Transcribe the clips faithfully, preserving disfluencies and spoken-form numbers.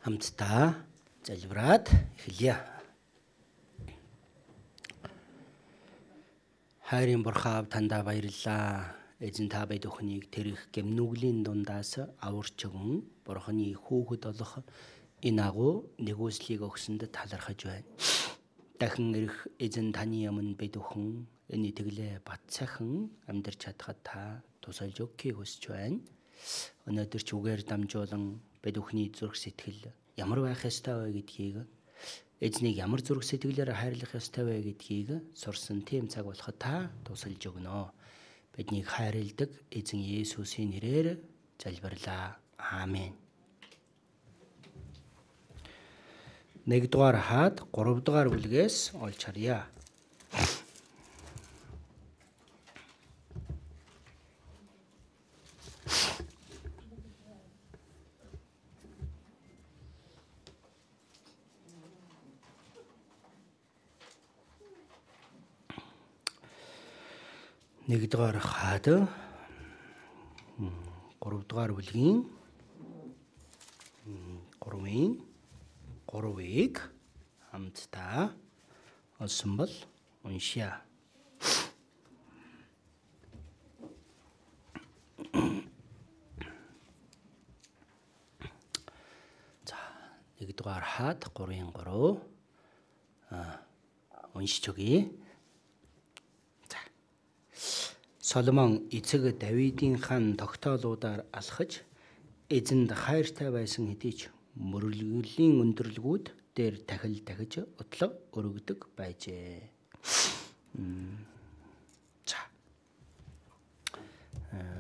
Хамтдаа залбираад эхэлье. Хайрын Бурхан тандаа баярлалаа. Эзэн та бид өхнийг тэрх гэмнүглийн дундаас аварч өгөн Бурханы хүүхэд болох энэ агуу нэгүслийг өгсөнд талархаж байна. Дахин ирэх эзэн таны өмнө бид өхөн энэ итгэлээ бат сайхан амьдарч чадхад та тусалж өгөхийг хүсэж байна. Өнөөдөр ч үгээр дамжуулан бид өхний зүрх сэтгэл ямар байх ёстой вэ гэдгийг, эзнийг ямар зүрх сэтгэлээр хайрлах ёстой вэ гэдгийг сурсан тийм цаг болоход та тусалж өгнө. Биднийг хайрладаг эзэн Есүсийн нэрээр залбирлаа. Аамен. Нэгдүгээр хаад гуравдугаар бүлгээс олж харъя. Нэгдүгээр хаад гуравдугаар бүлгийн гурвын гурвыг хамтдаа олсон бол уншия. За, нэгдүгээр хаад гурвын гурав уншиж өгье. Соломон эцэг Давидын хан тогтоолуудаар алхаж эзэнд хайртай байсан хэдий ч мөрөглөлийн өндөрлгүүд дээр тахил тахиж утлаг өргөдөг байжээ. За.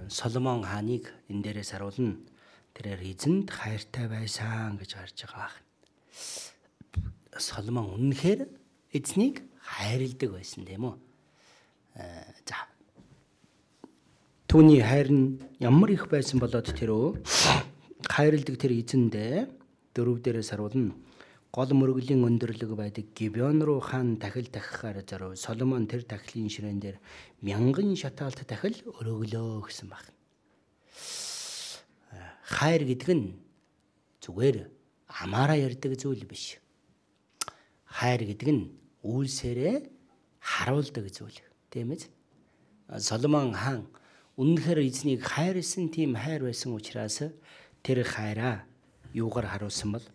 Соломон хааныг энэ дээрээс харуулна. Тэрээр эзэнд хайртай байсан гэж харж байгаа. Соломон үнэхээр эзнийг хайрладаг байсан тийм үү? За. Түүний хайр нь ямар их байсан болоод тэрөө хайрладаг тэр эзэндээ дөрөв дээрээс харуулна. Гол мөрөглийн өндөрлөг байдаг Гибеон руу хаан тахил тахихаар зорив. Соломон тэр тахилын ширээн дээр мянган шатаалт тахил өргөлөө гэсэн байна. Хайр гэдэг нь зүгээр амаараа ярьдаг зүйл биш. Хайр гэдэг нь үйлсээрээ харуулдаг зүйл. Тийм ээ. Соломон хаан үнэхээр эзнийг хайрлсан тийм хайр байсан учраас тэр хайраа юугаар харуулсан бол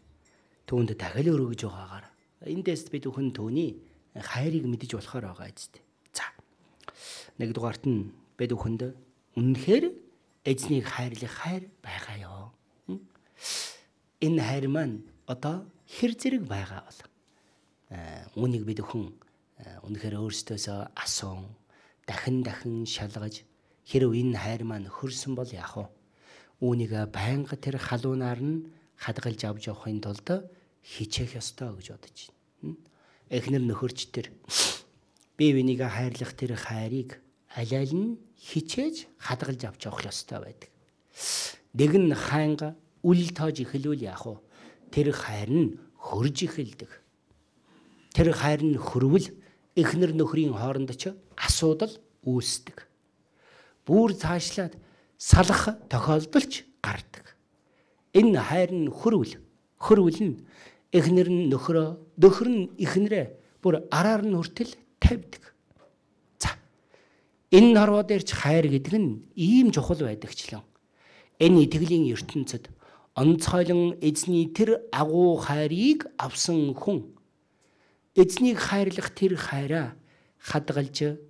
түүнд тахил өргөж байгаагаар. Эндээс бид өхөн түүний хайрыг мэдэж болохоор байгаа эцтэй. За. Нэгдүгээрт нь бид өхөнд үнэхээр эзнийг хайрлах хайр байгаа ёо. Энэ хайр маань одоо хэр зэрэг байгаа бол үүнийг бид өхөн үнэхээр өөрсдөөсөө асуун дахин дахин шалгаж хэрв энэ хайр маань хөрсөн бол яах вэ? Үүнийг байнга тэр халуунаар нь хадгалж авч явахын тулд хичээх ёстой гэж бодож байна. Эхнэр нөхөрч тэр бие биенийг хайрлах тэр хайрыг аль аль нь хичээж хадгалж авч явах ёстой байдаг. Нэг нь хайнга үл тоож эхлүүл яах вэ? Тэр хайр нь хөрж эхэлдэг. Тэр хайр нь хөрвөл эхнэр нөхрийн хооронд ч асуудал үүсдэг. Бүр цаашлаад салах тохиолдолч гардаг. Энэ хайр нь хөрвөл, хөрвөл нь эхнэр нь нөхрөө, нөхөр нь эхнэрээ бүр араар нь хүртэл тавьдаг. За. Энэ хорвоо дээр ч хайр гэдэг нь ийм чухал байдагчлан. Энэ итгэлийн ертөнцид онцгойлон эзний тэр агуу хайрыг авсан хүн эзнийг хайрлах тэр хайраа хадгалж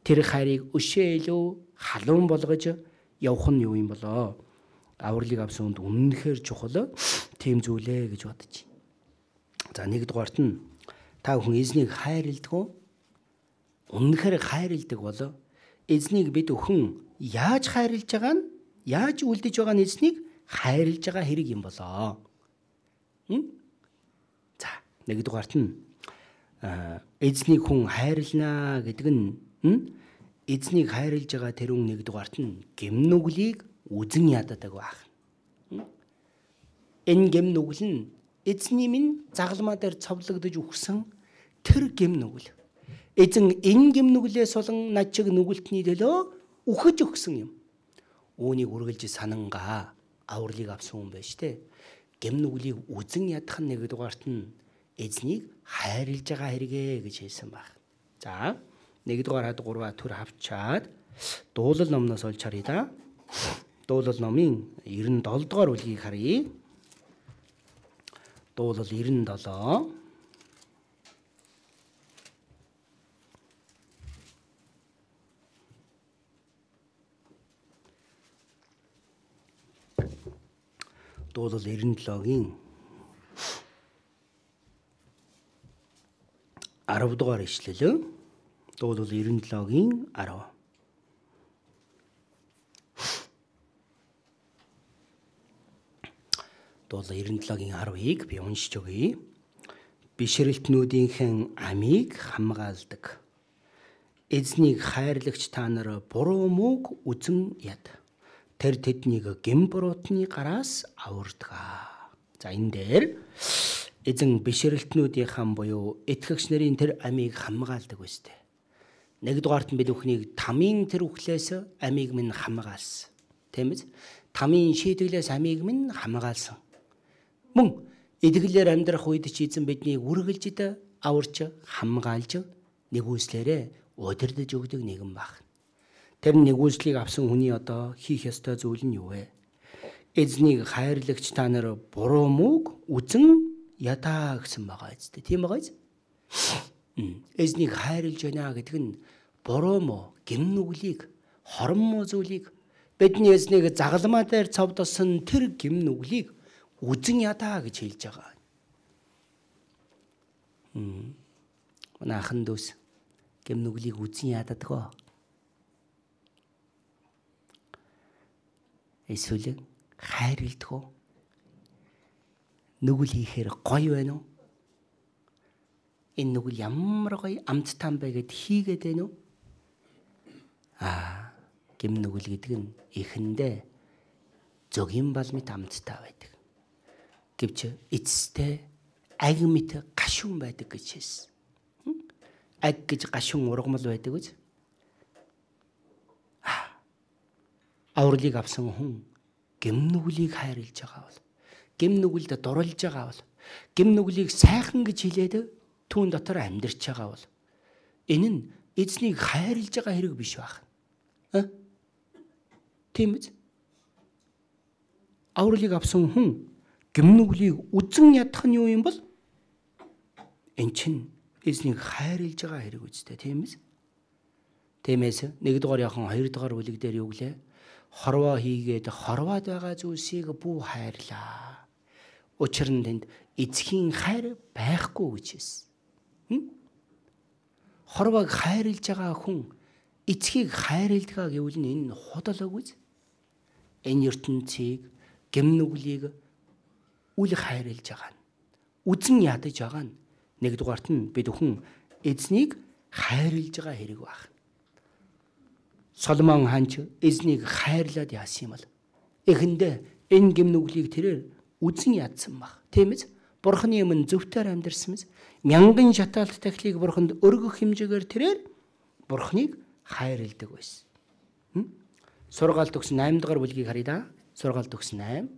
тэр хайрыг өшөөлөө халуун болгож явах нь юу юм болоо? Авралыг авсан хүнд үнэнхээр чухал тийм зүйлээ гэж бодож байна. За нэгдүгээрт нь та хүн эзнийг хайрладаг. Үнэнхээр хайрладаг бол эзнийг бид өхөн яаж хайрлаж байгаа нь, яаж үлдэж байгаа нь эзнийг хайрлаж байгаа хэрэг юм болоо. За нэгдүгээрт нь эзнийг хүн хайрлнаа гэдэг нь эзнийг хайрлаж байгаа тэр хүн нэгдүгээрт нь гэмнүглийг үзэн ядадаг байх. Энэ гэмнүгэл нь эзний минь загалмаа дээр цовлогдож өгсөн тэр гэмнүгэл. Эзэн энэ гэмнүглээс болон над чиг нүгэлтний төлөө үхэж өгсөн юм. Үүнийг үргэлж санангаа авралыг авсан хүн байж тээ. гэм нүглийг үзэн ядах нь нэгдүгээрт нь эзнийг хайрлаж байгаа хэрэгэ гэж хэлсэн баг. За нэгдүгээр хад гурваа төр хавчаад дуулал номноос олж харъя да. Дуулал номын девяносто долоо дугаар бүлгийг харъя. Дуулал девяносто долоо. Дуулал девяносто долоогийн арав дугаар ишлэл. Дуулал девяносто долоогийн арав. Дуулал девяносто долоогийн арвыг би уншиж өгье. Бишрэлтнүүдийнхэн амийг хамгаалдаг. Эзнийг хайрлагч та нар буруу мууг үзэн яд. Тэр тэднийг гэм буруутны гараас авардаг. За энэ дээр эзэн бишрэлтнүүдийнхэн буюу итгэгч нарын тэр амийг хамгаалдаг үстэй. Нэгдүгээрт нь бид бүхнийг тамийн тэр үхлээс амийг минь хамгаалсан. Тийм биз? Тамийн шийдэглээс амийг минь хамгаалсан. Мөн эдгэлээр амьдрах үед ч эзэн биднийг үргэлжид аварч хамгаалж нэгүслээрээ удирдах өгдөг нэгэн баг. Тэр нэгүслийг авсан хүний одоо хийх ёстой зүйл нь юу вэ? Эзнийг хайрлагч та нар буруу мууг үзэн ядаа гэсэн байгаа үстэй. Тийм байгаа биз? Эзнийг хайрлаж байна гэдэг нь буруу муу, гэм нүглийг, хорон муу зүйлийг бидний эзнийг загалмаа дээр цовдосон тэр гэм нүглийг үзэн ядаа гэж хэлж байгаа. Мм. Нахан дүүс гэм нүглийг үзэн ядадгаа. Эсвэл хайрладаг уу? Нүгэл хийхээр гоё байна уу? Энэ нүгэл ямар гоё амттай юм бэ гэд хийгээд байна уу? Аа, гэм нүгэл гэдэг нь эхэндээ зөгийн балмит амттай байдаг. Гэвч эцэстээ аг мэт гашуун байдаг гэж хэлсэн. Аг гэж гашуун ургамал байдаг гэж. Авралыг авсан хүн гэм нүглийг хайрлаж байгаа бол, гэм нүгэлд дурлж байгаа бол, гэм нүглийг сайхан гэж хэлээд түүн дотор амьдарч байгаа бол энэ нь эзнийг хайрлаж байгаа хэрэг биш байх. А? Тийм биз? Авралыг авсан хүн гэм нүглийг үзэн ядах нь юу юм бол? Эн чинь эзнийг хайрлаж байгаа хэрэг үстэй, тийм биз? Тиймээс нэгдүгээр яхан хоёрдугаар бүлэг дээр юу гэлээ? Хорвоо хийгээд хорвоод байгаа зүйлсийг бүү хайрлаа. Учир нь тэнд эцгийн хайр байхгүй гэж хэлсэн. Хорвоог хайрлаж байгаа хүн эцгийг хайрладаг гэвэл энэ худал үгүй. Энэ ертөнцийг гэм нүглийг үл хайрлаж байгаа нь, үзэн ядаж байгаа нь нэгдүгээрт нь бид бүхэн эзнийг хайрлаж байгаа хэрэг байна. Соломон хаан ч эзнийг хайрлаад яасан юм бол эхэндээ энэ гэм нүглийг тэрээр үзэн ядсан баг. Тийм биз? Бурхны өмнө зөвхтөр амьдэрсэн биз? Мянган шатаалт тахлыг бурханд өргөх хэмжээгээр тэрээр бурхныг хайрладаг байсан. Сургаалт өгсөн найман дугаар бүлгийг харъя да. Сургаалт өгсөн найман.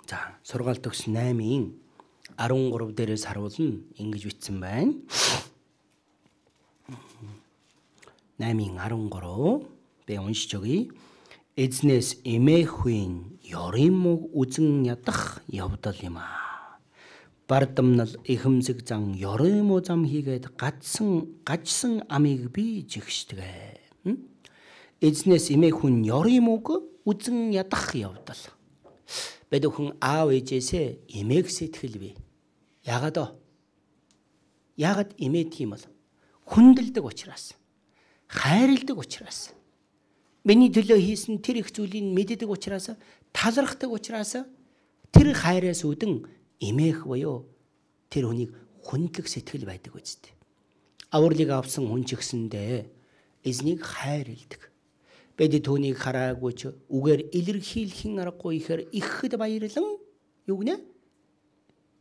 За, сургаалт өгсөн наймын арван гурав дээрээс харуулна ингэж бичсэн байна. наймын арван гурав би уншиж өгье. Эзнээс эмээхүйн ёрын мөг үзэн ядах явдал юм аа. Бардамнал эхэмсэг зан ёрын муу зам хийгээд гадсан гажсан амийг би жигшдэгэ. Эзнээс эмээхүйн ёрын мөг үзэн ядах явдал. Бид бүхэн аав ээжээсээ эмээг сэтгэл бий. Яагаад вэ? Яагаад эмээд юм бол? Хүндэлдэг учраас, хайрладаг учраас, миний төлөө хийсэн тэр их зүйлийг мэддэг учраас, талархдаг учраас тэр хайраас үүдэн эмээх буюу тэр хүнийг хүндлэх сэтгэл байдаг үстэй. Авралыг авсан хүн ч гэсэндээ эзнийг хайрладаг. Бид түүнийг хараагүй ч үгээр илэрхийлэхин аргагүй ихээр ихэд баярлан юу гэнэ?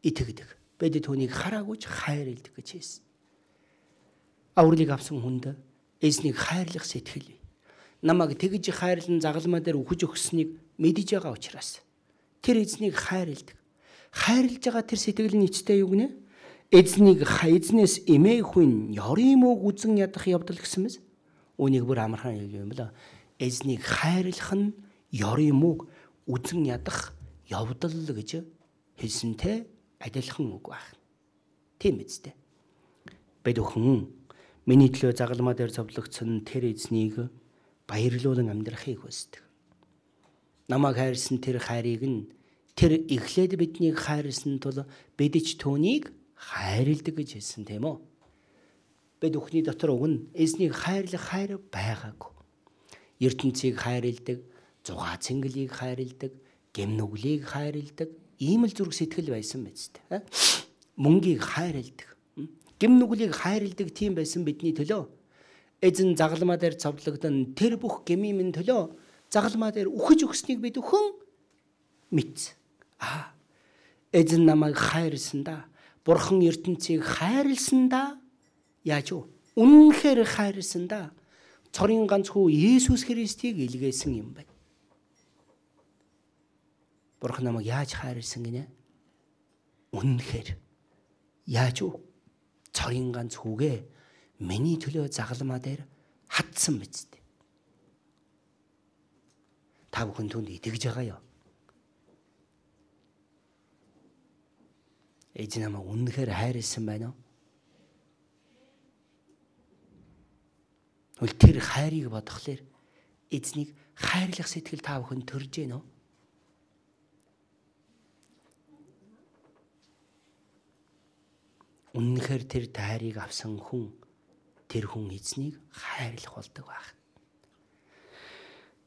Итгэдэг. Бид түүнийг хараагүй ч хайрладаг гэж хэлсэн. Авралыг авсан хүнд эзнийг хайрлах сэтгэл. намайг тэгж хайрлан загалмаа дээр үхэж өгсөнийг мэдэж байгаа учраас тэр эзнийг хайрладаг. Хайрлаж байгаа тэр сэтгэл нь эцтэй юу гинэ? Эзнийг эзнээс эмээхүйн ёрын мөг үзэн ядах явдал гэсэн мэс. Үнийг бүр амархан юм байна. Эзнийг хайрлах нь ёрын мөг үзэн ядах явдал гэж хэлсэнтэй адилхан үг байна. Тийм үстэй. Бид өхөн миний төлөө загалмаа дээр зовлогдсон тэр эзнийг баярлуулан амьдрахыг хүсдэг. Намайг хайрсан тэр хайрыг нь тэр эхлээд биднийг хайрлсан тул бид ч түүнийг хайрладаг гэж хэлсэн тийм үү? Бид өхний дотор уг нь эзнийг хайрлах хайр байгаагүй. ертөнцийг хайрладаг, зугаа цэнгэлийг хайрладаг, гэмнүглийг хайрладаг ийм л зүрх сэтгэл байсан биз дээ. Мөнгийг хайрладаг, гэмнүглийг хайрладаг тийм байсан бидний төлөө. Эзэн загалмаа дээр цовдлогдсон тэр бүх гэмийн минь төлөө загалмаа дээр үхэж өгснийг бид өхөн мэд. Аа, эзэн намайг хайрлсандаа, бурхан ертөнцийг хайрлсандаа яаж вэ? Үнэнхээр хайрлсандаа цорын ганц хүү Есүс Христийг илгээсэн юм байна. Бурхан намайг яаж хайрлсан гинэ? Үнэнхээр. Яаж вэ? Цорын ганц хүүгээ миний төлөө загалмаа дээр хатсан биз дээ. Та бүхэн түнд итгэж байгаа юу? Эзэн намайг үнэнхээр хайрлсан байна уу? Үл тэр хайрыг бодохлоор эзнийг хайрлах сэтгэл та бүхэн төрж гэнэ үү? Үнэнхээр тэр хайрыг авсан хүн тэр хүн эзнийг хайрлах болдог байх.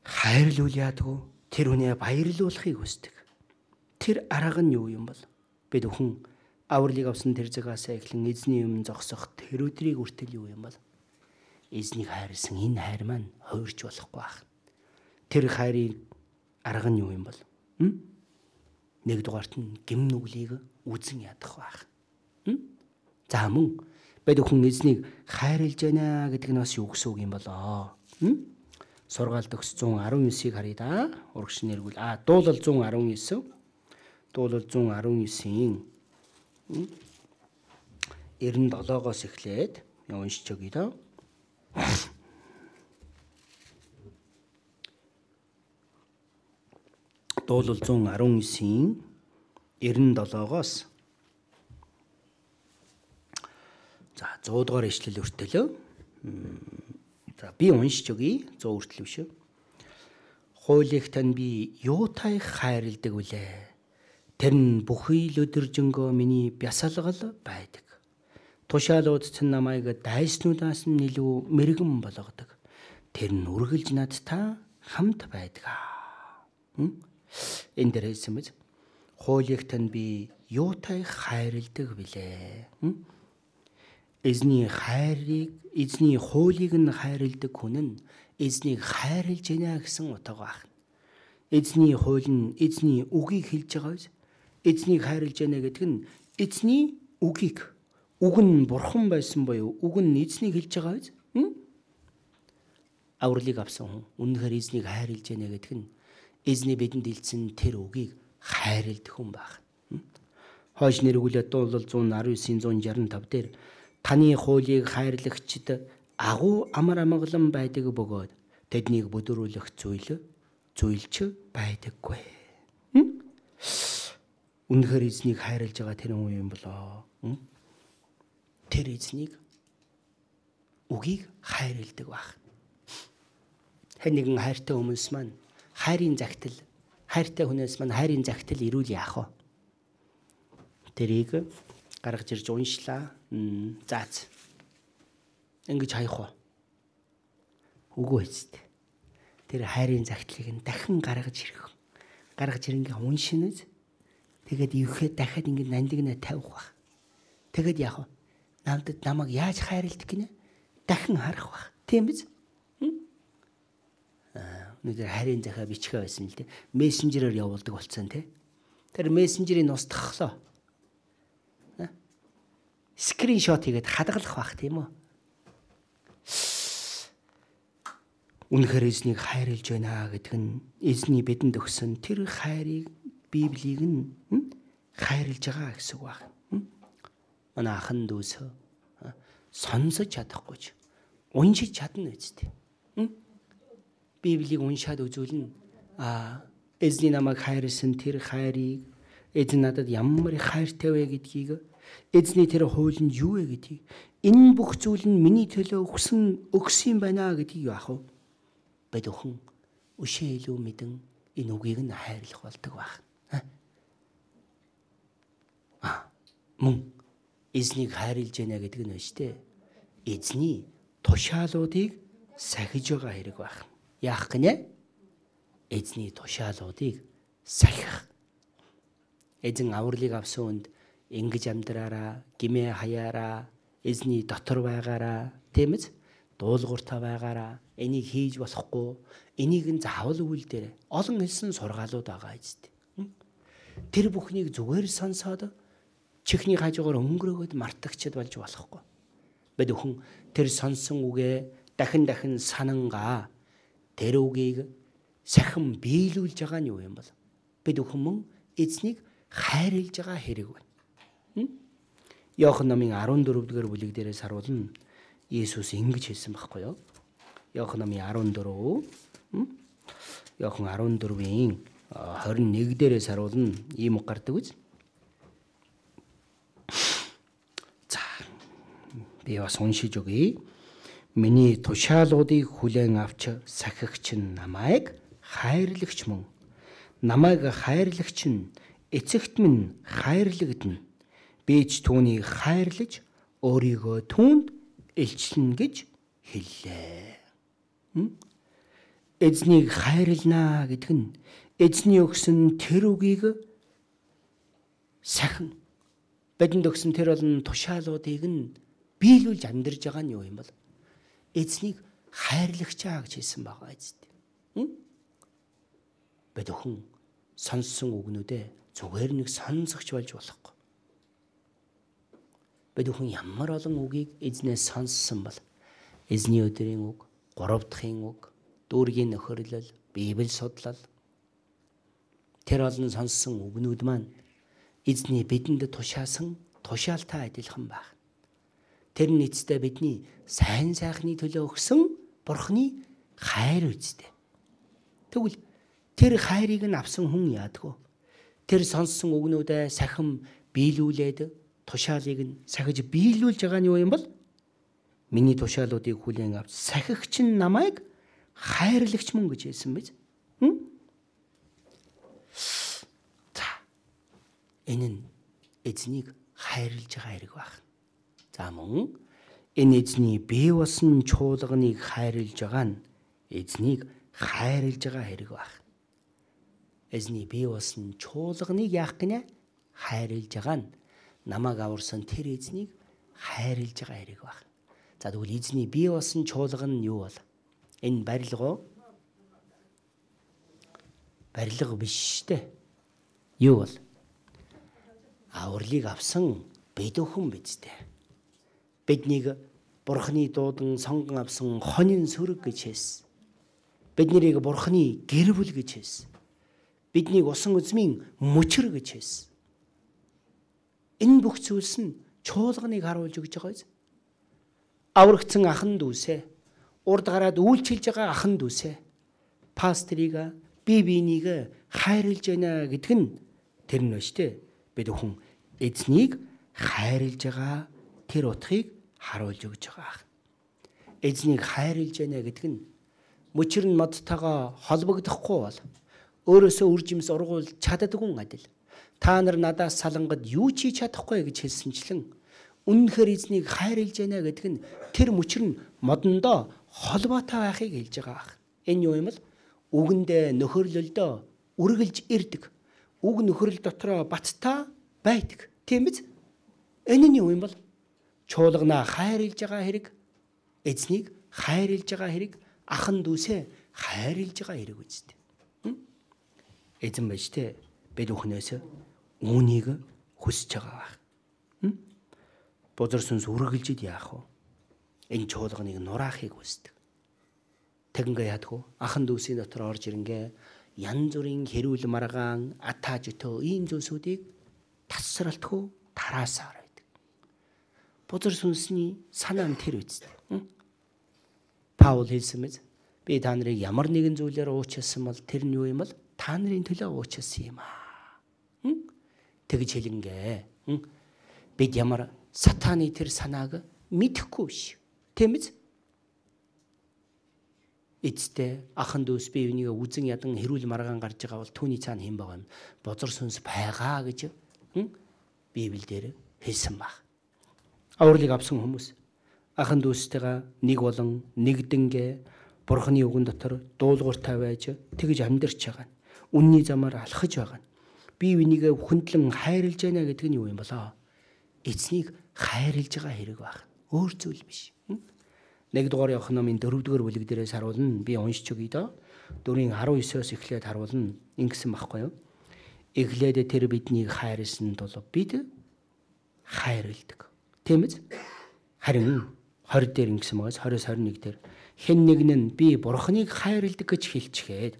Хайрлуул яадгүй тэр хүнээ баярлуулахыг хүсдэг. Тэр арга нь юу юм бол? Бид өхөн авралыг авсан тэр цагаас эхлэн эзний өмнө зогсох тэр өдрийг хүртэл юу юм бол? Эзнийг хайрлсан энэ хайр маань хуурч болохгүй байх. Тэр хайрын арга нь юу юм бол? Нэгдүгээрт нь гэмнүглийг үзэн ядах байх. За мөн бид өхөн эзнийг хайрлж байна гэдэг нь бас юу гэсэн үг юм болоо? Сургаалт төгс one nineteen харъя да. Урагш нэргүүл. А дуулал one nineteen. Дуулал one nineteen-ийн ninety-seven-оос эхлээд уншиж өгье да. Дуулал one nineteen-ийн ninety-seven-оос за one hundred дугаар ишлэл хүртэл. За би уншиж өгье. one hundred хүртэл биш. Хуулийг тань би юутай хайрладаг вүлээ? Тэр нь бүхий л өдөржингөө миний бясалгал байдаг. Тушаалууд чинь намайг дайснуудаас нь илүү мэрэгэн болгодог. Тэр нь үргэлж надтай хамт байдаг. Энэ дээр хэлсэн мэт. Хуулийг тань би юутай хайрладаг вүлээ? Эзний хайрыг, эзний хуулийг нь хайрладаг хүн нь эзнийг хайрлж байна гэсэн утга байна. Эзний хууль нь эзний үгийг хэлж байгаа биз? Эзнийг хайрлж байна гэдэг нь эзний үгийг, үг нь бурхан байсан боيو, үг нь эзнийг хэлж байгаа биз? Авралыг авсан хүн үнэхээр эзнийг хайрлж байна гэдэг нь эзний бидэнд илтсэн тэр үгийг хайрладаг хүн байна. Хойш нэргүүлээд дуулал one nineteen-ийн one sixty-five дээр таны хуулийг хайрлагчид агуу амар амгалан байдаг бөгөөд тэднийг бүдүүлэх зүйл зүйлч байдаггүй. Үнэхээр эзнийг хайрлаж байгаа тэр хүн юм болоо. Тэр эзнийг үгийг хайрладаг байх. Хэн нэгэн хайртай хүмүүс маань хайрын загтал, хайртай хүнээс маань хайрын загтал ирүүл яах вэ? Тэрийг гаргаж ирж уншлаа. Заац. Ингэж хаях уу? Үгүй ээ. Тэр хайрын загтлыг нь дахин гаргаж ирэх. Гаргаж ирэнгээ уншиныз. Тэгээд ивэхэд дахиад ингэ нандинаа тавих баг. Тэгээд яах вэ? Намдад намайг яаж хайрладаг гинэ? Дахин харах баг. Тийм биз? Аа, өнөөдөр хайрын захаа бичгээ байсан л дээ. Мессенжерээр явуулдаг болсон тий. Тэр мессенжерийг устгахлаа. Скриншот хийгээд хадгалах байх тийм үү? Үнэхээр эзнийг хайрлж байна гэдэг нь эзний бидэнд өгсөн тэр хайрыг Библийг нь хайрлж байгаа гэсэн үг байна. Манай ахан дүүс сонсож чадахгүй ч уншиж чадна үстэй. Библийг уншаад үзүүлнэ. А эзний намайг хайрлсан тэр хайрыг, эзэн надад ямар их хайртай вэ гэдгийг, эзний тэр хуулинд юу вэ гэдгийг, энэ бүх зүйл нь миний төлөө өгсөн өгсөн байна гэдгийг яах вэ? Бид өхөн өшөө илүү мэдэн энэ үгийг нь хайрлах болдог байна. А мөн эзнийг хайрлж байна гэдэг нь өштэй. Эзний тушаалуудыг сахиж байгаа хэрэг байна. Яах гинэ? Эзний тушаалуудыг сахих. Эзэн авралыг авсан хүнд ингэж амьдраараа, гимээ хаяараа, эзний дотор байгаараа, тийм ээ? Дуулууртаа байгаараа, энийг хийж болохгүй, энийг нь заавал үйлдээрэй. Олон хэлсэн сургаалууд байгаа эзэд. Тэр бүхнийг зүгээр сонсоод чихний хажуугаар өнгөрөөгд мартагчд болж болохгүй. Бид өхөн тэр сонсон үгээ дахин дахин санангаа тэр үгийг сахин биелүүлж байгаа нь юу юм бол? Бид өхөн мөн эзнийг хайрлж байгаа хэрэг байна. Иохан номын арван дөрөвдүгээр бүлэг дээрээс харуулна. Иесус ингэж хэлсэн байхгүй юу? Иохан номын арван дөрөв. Иохан арван дөрвийн хорин нэг дээрээс харуулна. Ийм үг гардаг үз. За. Би бас уншиж өгье. Миний тушаалуудыг хүлээн авч сахигч нь намайг хайрлагч мөн. Намайг хайрлагч нь эцэгт минь хайрлагдана. Би ч түүнийг хайрлаж өөрийгөө түүнд илчлэн гэж хэллээ. Эзнийг хайрлнаа гэдэг нь эзний өгсөн тэр үгийг сахин бидэнд өгсөн тэр олон тушаалуудыг нь биелүүлж амьдарж байгаа нь юу юм бол? Эзнийг хайрлагчаа гэж хэлсэн байгаа эзэд. Бид өхөн сонссон үгнүүдээ зүгээр нэг сонсогч болж болохгүй. Бид өхөн ямар олон үгийг эзнээс сонссон бол эзний өдрийн үг, гурав дахын үг, дүүргийн нөхөрлөл, Библи судлал тэр олон сонссон үгнүүд маань эзний бидэнд тушаасан тушаалтай адилхан байна. Тэр нь эцэстээ бидний сайн сайхны төлөө өгсөн Бурхны хайр үстэй. Тэгвэл тэр хайрыг нь авсан хүн яадгүй. Тэр сонссон үгнүүдээ сахин биелүүлээд тушаалыг нь сахиж биелүүлж байгаа нь юу юм бол? Миний тушаалуудыг хүлээн авч сахигч нь намайг хайрлагч мөн гэж хэлсэн биз? За. Энэ нь эзнийг хайрлж байгаа хэрэг байна. За мөн энэ эзний бие болсон чуулганыг хайрлж байгаа нь эзнийг хайрлж байгаа хэрэг байна. Эзний бие болсон чуулганыг яах гинэ? Хайрлж байгаа нь намайг аварсан тэр эзнийг хайрлж байгаа хэрэг байна. За тэгвэл эзний бие болсон чуулган нь юу бол? Энэ барилга уу? Барилга биш шүү дээ. Юу бол? Авралыг авсан бид өхөн биз дээ. Биднийг Бурхны дуудан сонгон авсан хонин сүрэг гэж хэлсэн. Бид нарыг Бурхны гэр бүл гэж хэлсэн. Биднийг усан үзмийн мөчр гэж хэлсэн. Энэ бүх зүйлс нь чуулганыг харуулж өгч байгаа биз? Аврагдсан ахан дүүсээ, урд гараад үйлчилж байгаа ахан дүүсээ, пастрийг, бие биенийг хайрлж байна гэдэг нь тэр нь биш үү? Бид өхөн эзнийг хайрлж байгаа тэр утгыг харуулж өгч байгаа. Эзнийг хайрлж байна гэдэг нь мөчр нь модтойгоо холбогдохгүй бол өөрөөсөө үржимс ургуул чаддаггүй адил. Та нар надаас салангад юу ч хийж чадахгүй гэж хэлсэнчлэн үнэнхээр эзнийг хайрлж байна гэдэг нь тэр мөчр нь модондоо холбоотой байхыг хэлж байгаа. Энэ юу юм бол? Үгэндээ нөхөрлөлдөө үргэлж ирдэг. Үг нөхөрлөл дотроо баттай байдаг. Тийм биз? Энэ нь юу юм бол? Чуулганаа хайрлж байгаа хэрэг, эзнийг хайрлж байгаа хэрэг, ахан дүүсээ хайрлж байгаа хэрэг үстэй. Эзэн байж тээ бид өхнөөс үүнийг хүсэж байгаа. Бузар сүнс үргэлжид яах вэ? Энэ чуулганыг нураахыг хүсдэг. Тэгингээ яадгүй ахан дүүсийн дотор орж ирэнгээ янз бүрийн хэрүүл маргаан атааж өтөө ийм зүйлсүүдийг тасралтгүй тараасаар байдаг. Бузар сүнсний санаа нь тэр үст. Паул хэлсэн мэт би та нарыг ямар нэгэн зүйлээр уучлсан бол тэр нь юу юм бол та нарын төлөө уучлсан юм аа. Тэгж хэлэнгээ. Бид ямар сатаны тэр санааг мэдэхгүй биш. Тийм биз? Эцтэй ахан дүүс би үнийг үзэн ядан хэрүүл маргаан гарч байгаа бол түүний цаана хэн байгаа юм? Бузар сүнс байгаа гэж Библиэлд хэлсэн баг. Авралыг авсан хүмүүс ахан дүүстэйгээ нэг болон нэгдэнгээ Бурхны үгэн дотор дуулууртай байж тэгж амьдарч байгаа. Үнний замаар алхаж байгаа. Би үнийг хүндлэн хайрлаж байна гэдэг нь юу юм болоо? Эцнийг хайрлаж байгаа хэрэг баг. Өөр зүйл биш. Нэгдүгээр Иохан номын дөрөвдүгээр бүлэг дээрээс харуулна. Би уншиж өгье доо. дөрвийн арван есөөс эхлээд харуулна. Ингэсэн баггүй юу? Эхлээд тэр биднийг хайрлсан тул бид хайрладаг. Тийм биз? Харин хорь дээр ингэсэн байгаас хорьоос хорин нэг дээр хэн нэгэн нь би Бурхныг хайрладаг гэж хэлчихээд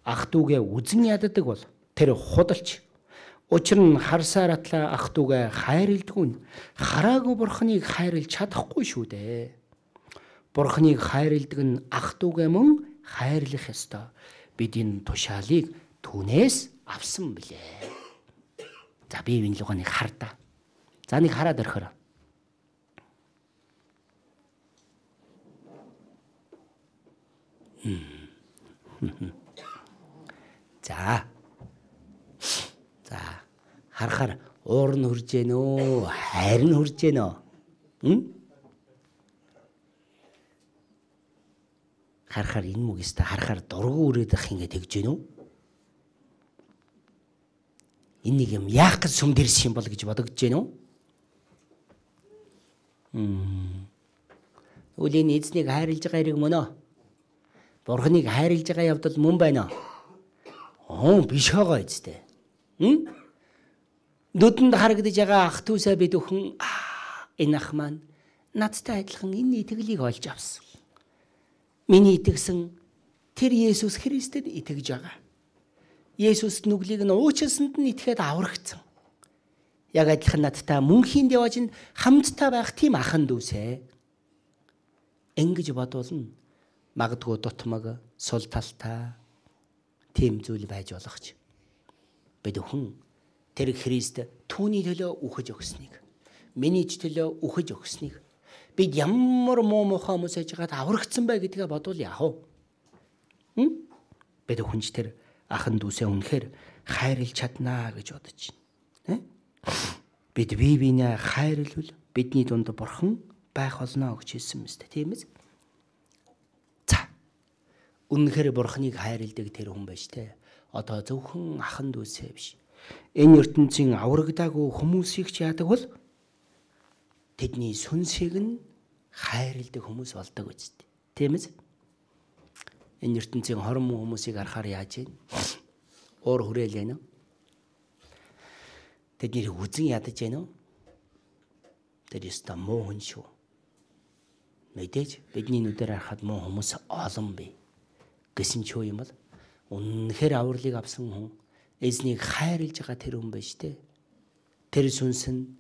ах дүүгээ үзэн яддаг бол тэр худалч. Учир нь харсаар атлаа ах дүүгээ хайрладаггүй нь хараагүй Бурхныг хайрлаж чадахгүй шүү дээ. Бурхныг хайрладаг нь ах дүүгээ мөн хайрлах ёстой. Бид энэ тушаалыг түүнээс авсан билээ. За би энэ лугааныг хардаа. За нэг хараад орхороо. За. За. Харахаар уур нь хурж гэнэ үү? Хайр нь хурж гэнэ үү? Хм? Харахаар энэ мөгөөстэй харахаар дургу өрөөд ах ингэ тэгж гэнэ үү? Энэ нэг юм яах гэж сүм дэрс юм бол гэж бодогдож гэнэ үү? Хм. Үлийн эзнийг хайрлаж байгаа хэрэг мөн үү? Бурхныг хайрлаж байгаа явдал мөн байна уу? Оо биш байгаа эцтэй. Хм? Нүдэнд харагдаж байгаа ах дүүсээ бид өхөн энэ ах маань надтай адилхан энэ итгэлийг олж авсан. Миний итгэсэн тэр Есүс Христэд итгэж байгаа. Есүс нүглийг нь уучлсанд нь итгээд аврагдсан. Яг адилхан надтай мөнхийн явж хамттай байх тийм ахан дүүсээ. Ингэж бодвол магадгүй дутмаг сул талтай тийм зүйл байж болох ч. Бид өхөн тэр Христ түүний төлөө үхэж өгснийг, миний ч төлөө үхэж өгснийг бид ямар муу мухай хүмүүс аж гад аврагдсан бай гэдгээ бодвол яах вэ? Хм? Бид өхөнч тэр ахан дүүсээ үнэхээр хайрлаж чаднаа гэж бодож байна. Бид бие биенээ хайрлвал бидний дунд Бурхан байх болно гэж хэлсэн мэт тийм ээ. За. Үнэхээр Бурханыг хайрладаг тэр хүн байж тээ. Одоо зөвхөн ахан дүүсээ биш. Энэ ертөнцийн аврагдаагүй хүмүүсийг ч яадаг бол тэдний сүнсийг нь хайрладаг хүмүүс болдог үстэй. Тийм ээ. Энэ ертөнцийн хорон муу хүмүүсийг харахаар яаж вэ? Уур хүрээл байна уу? Тэдний үзэн ядаж байна уу? Тэр ёстой муу хүн шүү. Мэдээж бидний нүдээр харахад муу хүмүүс олон бий. Гэсэн ч юу юм бол үнэхээр авралыг авсан хүн эзнийг хайрлаж байгаа тэр хүн байж тээ. Тэр сүнс нь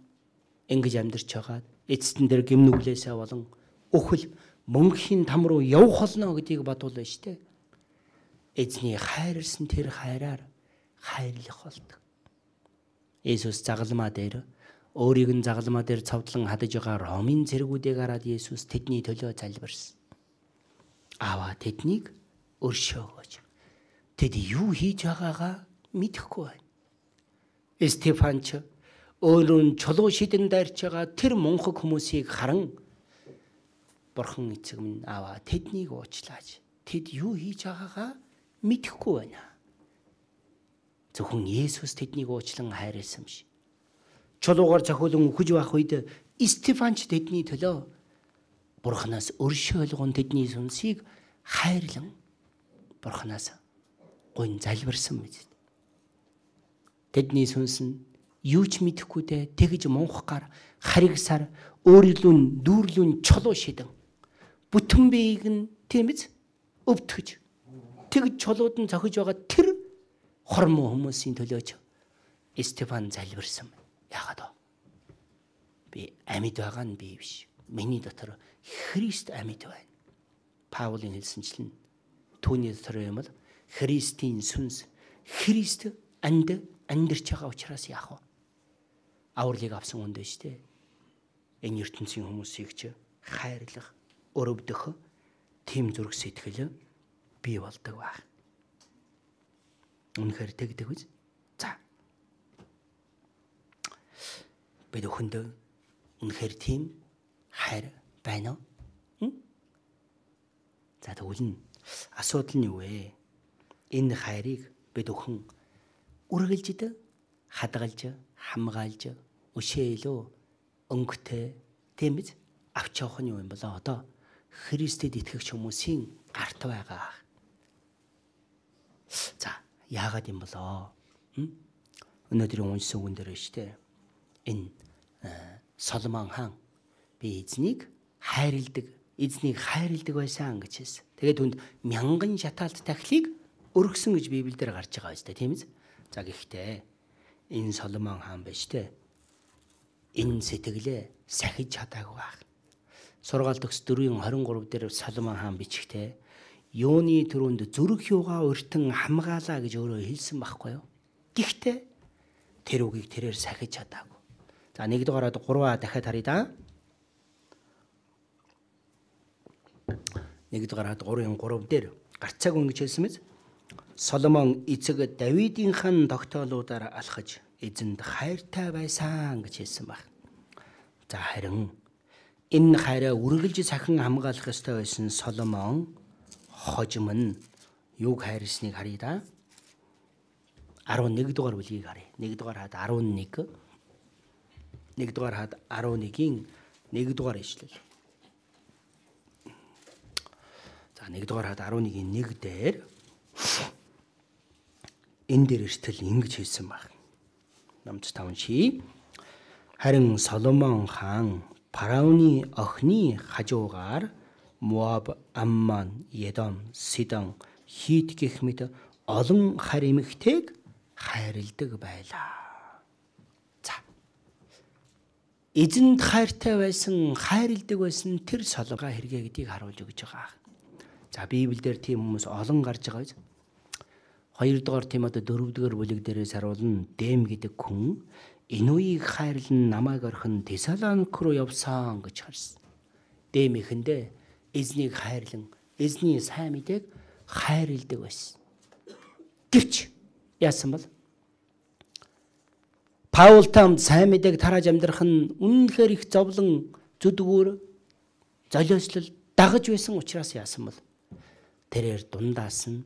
ингэж амьдарч байгаа эцэстэн дээр гимнүглээсээ болон өхөл мөнхийн там руу явах болно гэдгийг бодвол байж тээ. Эзний хайрлсан тэр хайраар хайрлах болдог. Есүс загалмаа дээр өөрийг нь загалмаа дээр цовдлон хадаж байгаа Ромын цэргүүдийг хараад Есүс тэдний төлөө залбирсан. Аваа тэднийг өршөөгөөж. Тэд юу хийж байгаагаа мэдэхгүй байна. Стефанч өөрөө нь чулуу шидэн дайрч байгаа тэр мунхаг хүмүүсийг харан Бурхан эцэг минь аваа тэднийг уучлаач. Тэд юу хийж байгаагаа мэдэхгүй байна. Зөвхөн Есүс тэднийг уучлан хайрласан биш. Чулуугаар цохиулан үхэж байх үед Стефанч тэдний төлөө Бурханаас өршөөлгөн тэдний сүнсийг хайрлан Бурханаас гойн залбирсан мэт. Тэдний сүнс нь юу ч мэдэхгүйдээ тэгж мунхгаар харигсаар өөрлөн дүүрлүн чулуу шидэн бүтэн биеийг нь тийм биз өвтгөж тэгж чулууд нь зохиж байгаа тэр хормоо хүмүүсийн төлөөч Стефан залбирсан. Яагаад вэ? Би амьд байгаа нь би биш. Миний дотор Христ амьд байна. Паулийн хэлсэнчлэн түүний дотор юм бол Христийн сүнс, Христ анд амьдарч байгаа учраас яах вэ? Авралыг авсан хүнд биш үү? Энэ ертөнцийн хүмүүсийг ч хайрлах, өрөвдөх тийм зүрх сэтгэл бий болдог байх. Үнэхээр тэгдэг биз? За. Бид өхөндөө үнэхээр тийм хайр байна уу? За тэгвэл нь асуудал нь юу вэ? Энэ хайрыг бид өхөн үргэлжид, хадгалж, хамгаалж, өшөөлөө, өнгөтэй тийм биз? Авч явах нь юу юм болоо? Одоо Христэд итгэгч хүмүүсийн гарт байгаа. За, яагаад юм болоо? Өнөөдрийн уншсан үгэн дээр шүү дээ. Энэ Соломон хаан би эзнийг хайрладаг, эзнийг хайрладаг байсан гэж хэлсэн. Тэгээд түнд мянган шатаалт тахилыг өргөсөн гэж Библиэлд гарч байгаа шүү дээ, тийм биз? За гэхдээ энэ Соломон хаан биш дээ. Энэ сэтгэлээ сахиж чадаагүй байх. Сургаалт төгс дөрвийн хорин гурав дээр Соломон хаан бичгтээ юуны төрөнд зүрх юугаа өртөн хамгаалаа гэж өөрөө хэлсэн байхгүй юу? Гэхдээ тэр үгийг тэрээр сахиж чадаагүй. За нэгдүгээрээ гурваа дахиад харъя да. Нэгдүгээрээ гурвын гурав дээр гарцааг ингэж хэлсэн мэт. Соломон эцэг Давидын хан тогтоолуудаар алхаж эзэнд хайртай байсан гэж хэлсэн баг. За харин энэ хайраа үргэлж сахин хамгаалах ёстой байсан Соломон хожим нь юуг хайрсныг харъя да. eleven дугаар бүлгийг харъя. one дугаар хаад eleven. one дугаар хаад eleven-ийн one дугаар ишлэл. За one дугаар хаад eleven-ийн one дээр энэ дээр эртэл ингэж хэлсэн баг. Номч таван ши. Харин Соломон хаан Фараоны охины хажуугаар Моаб, Аммон, Едом, Сидон, Хит гэх мэт олон харь эмэгтэйг хайрладаг байлаа. За. Эзэнд хайртай байсан, хайрладаг байсан тэр Соломон хэрэгэ гэдгийг харуулж өгч байгаа. За Библиэлд тийм хүмүүс олон гарч байгаа биз? two дугаар Тимот four дугаар бүлэг дээрээс харуулна. Дэм гэдэг хүн энэ үеийг хайрлан намайг орхин Тесалоник руу явсан гэж харсан. Дэм ихэндээ эзнийг хайрлан, эзний сайн мэдээг хайрладаг байсан. Гэвч яасан бол Паул там сайн мэдээг тарааж амьдрах нь үнэнхээр их зовлон, зүдгүүр, золиослол дагаж байсан учраас яасан бол тэрээр дундаас нь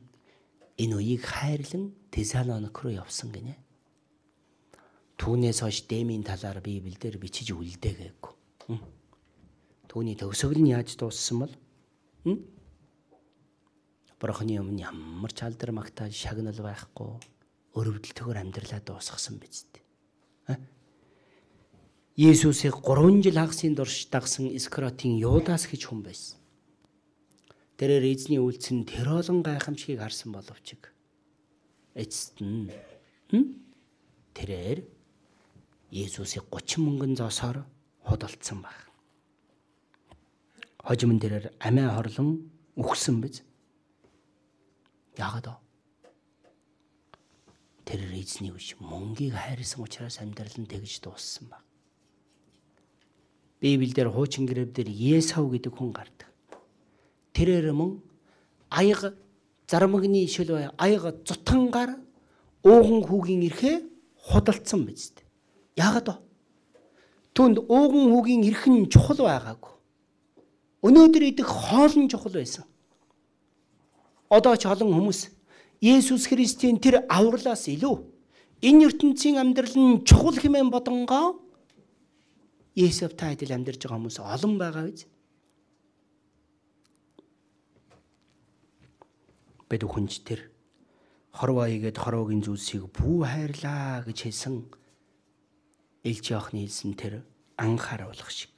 энэ үеийг хайрлан Тесалоник руу явсан гинэ. Түүнээс хойш Дэмийн талаар Библиэлд бичиж үлдээгээгүй. Түүний төгсгөл нь яаж дууссан бол Бурхны өмнө ямар ч алдар магтаал шагнал байхгүй өрөвдөлтөөр амьдралаа дуусгасан биз дээ. Есүсийг three жил хагасын дорш дагсан Искариотын Юдас гэж хүн байсан. Тэрээр эзний үйлцэн тэр олон гайхамшигыг харсан боловч эцэст нь тэрээр Есүсийг thirty мөнгөн зоосоор худалдсан баг. Хожим тэрээр амиа хорлон үхсэн биз? Яагаад вэ? Тэрээр эзний үш мөнгийг хайрсан учраас амьдрал нь тэгж дууссан баг. Библиэлд хуучин гэрээвдэр Есав гэдэг хүн гардаг. Тэрээр мөн аяга зарамгны шил бай аяга зутангаар ууган хүүгийн эрхээ худалдсан биз дээ. Яагаад вэ? Түүнд ууган хүүгийн эрх нь чухал байгаагүй. Өнөөдөр идэх хоол нь чухал байсан. Одоо ч олон хүмүүс Есүс Христийн тэр авралаас илүү энэ ертөнцийн амьдрал нь чухал хэмээн бодонгоо Есүстэй адил амьдарч байгаа хүмүүс олон байгаа биз? Бид хүнч тэр хорвоёгээд хорвогийн зүйлсийг бүү хайрлаа гэж хэлсэн Илч Иохны хэлсэн тэр анхааруулах шиг.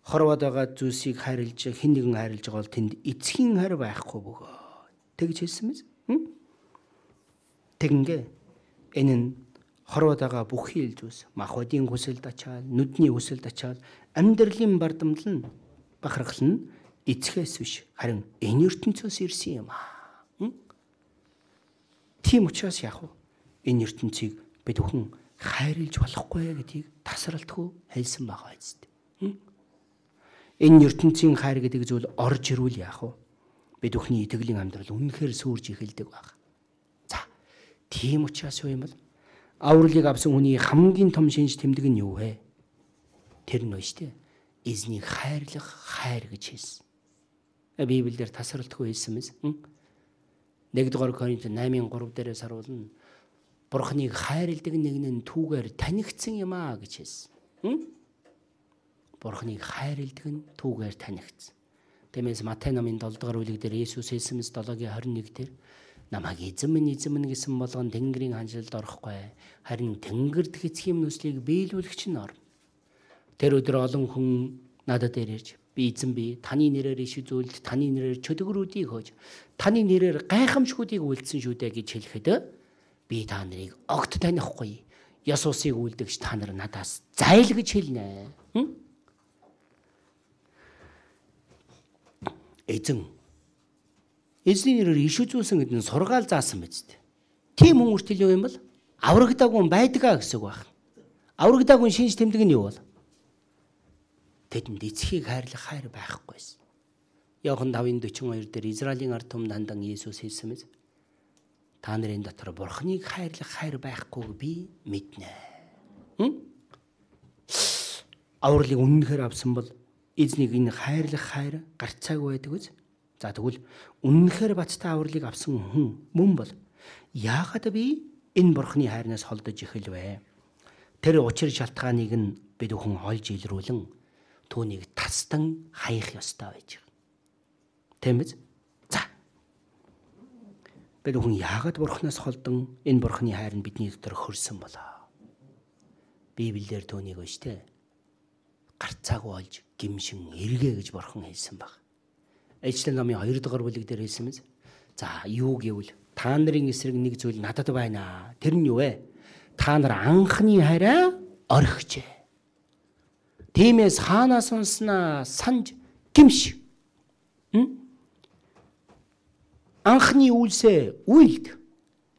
хорвоод байгаа зүйлсийг хайрлж, хэн нэгэн хайрлж байгаа бол тэнд эцгийн хайр байхгүй бөгөө. Тэгж хэлсэн мэз. Тэгингээ энэ нь хорвоод байгаа бүхий л зүйлс, махбодийн хүсэлд ачаал, нүдний хүсэлд ачаал, амьдралын бардамл нь бахархал нь эцгээс биш, харин энэ ертөнцөөс ирсэн юм аа. Тийм учраас яах вэ? Энэ ертөнцийг бид бүхэн хайрлж болохгүй гэдгийг тасралтгүй хэлсэн байгаа үст. Энэ ертөнцийн хайр гэдэг зүйл орж ирвэл яах вэ? Бид бүхний итгэлийн амьдрал үнэхээр сүрж эхэлдэг баг. За, тийм учраас юу юм бол авралыг авсан хүний хамгийн том шинж тэмдэг нь юу вэ? Тэр нь шүү дээ. Эзнийг хайрлах хайр гэж хэлсэн. Библиэлд тасралтгүй хэлсэн мэс. нэгдүгээр Коринт наймын гурав дээрээс харуулна. Бурхныг хайрладаг нэг нь түүгээр танигдсан юм аа гэж хэлсэн. Бурхныг хайрладаг нь түүгээр танигдсан. Тиймээс Матай номын долоо дахь бүлэг дээр Есүс хэлсэн мэс долоогийн хорин нэг дээр намайг эзэн минь эзэн минь гэсэн болгон Тэнгэрийн ханшилд орохгүй. Харин Тэнгэрд хэцхийн нүслийг биелүүлэгч нь орно. Тэр өдөр олон хүн надад ирж би эзэн би таны нэрээр иш үзүүлд, таны нэрээр чөтгөрүүдийг хөөж, таны нэрээр гайхамшгуудыг үйлдсэн шүү дээ гэж хэлэхэд би та нарыг огт танихгүй. Есүсийг үлдэгч та нар надаас зайл гэж хэлнэ. Эзэн эзний нэрээр иш үзүүлсэн гэдэг нь сургаал заасан биз дээ. Тийм хүн үртэл юу юм бол аврагдаагүй байдгаа гэсэн үг байна. Аврагдаагүй шинж тэмдэг нь юу бол? Тэдэнд эцгийг хайрлах хайр байхгүйсэн. Иохан тавын дөрвөн хоёр дээр Израилийн ард түмэнд хандан Есүс хэлсэн мэт. Та нарын дотор Бурхныг хайрлах хайр байхгүйг би мэднэ. Авралыг үнэнхээр авсан бол эзнийг энэ хайрлах хайр гарцаагүй байдаг үз. За тэгвэл үнэнхээр бацтай авралыг авсан хүн мөн бол яагаад би энэ Бурхны хайрнаас холдож эхэлвэ? Тэр учир шалтгааныг нь бид бүхэн олж илрүүлэн түүнийг тастан хаях ёстой байж байгаа. Тийм биз? За. Бид бүхэн яагаад Бурхнаас холдон энэ Бурхны хайр нь бидний дотор хөрсөн болоо? Библиэлд түүнийг өштэй гарцаагүй олж гимшин эргээ гэж Бурхан хэлсэн баг. Ээжлэн номын хоёр дахь бүлэг дээр хэлсэн мэз. За юу гэвэл та нарын эсрэг нэг зүйл надад байна. Тэр нь юу вэ? Та нар анхны хайраа орхижээ. Тиймээс хаанаас унснаа санж гимш. Анхны үйлсээ үйлд.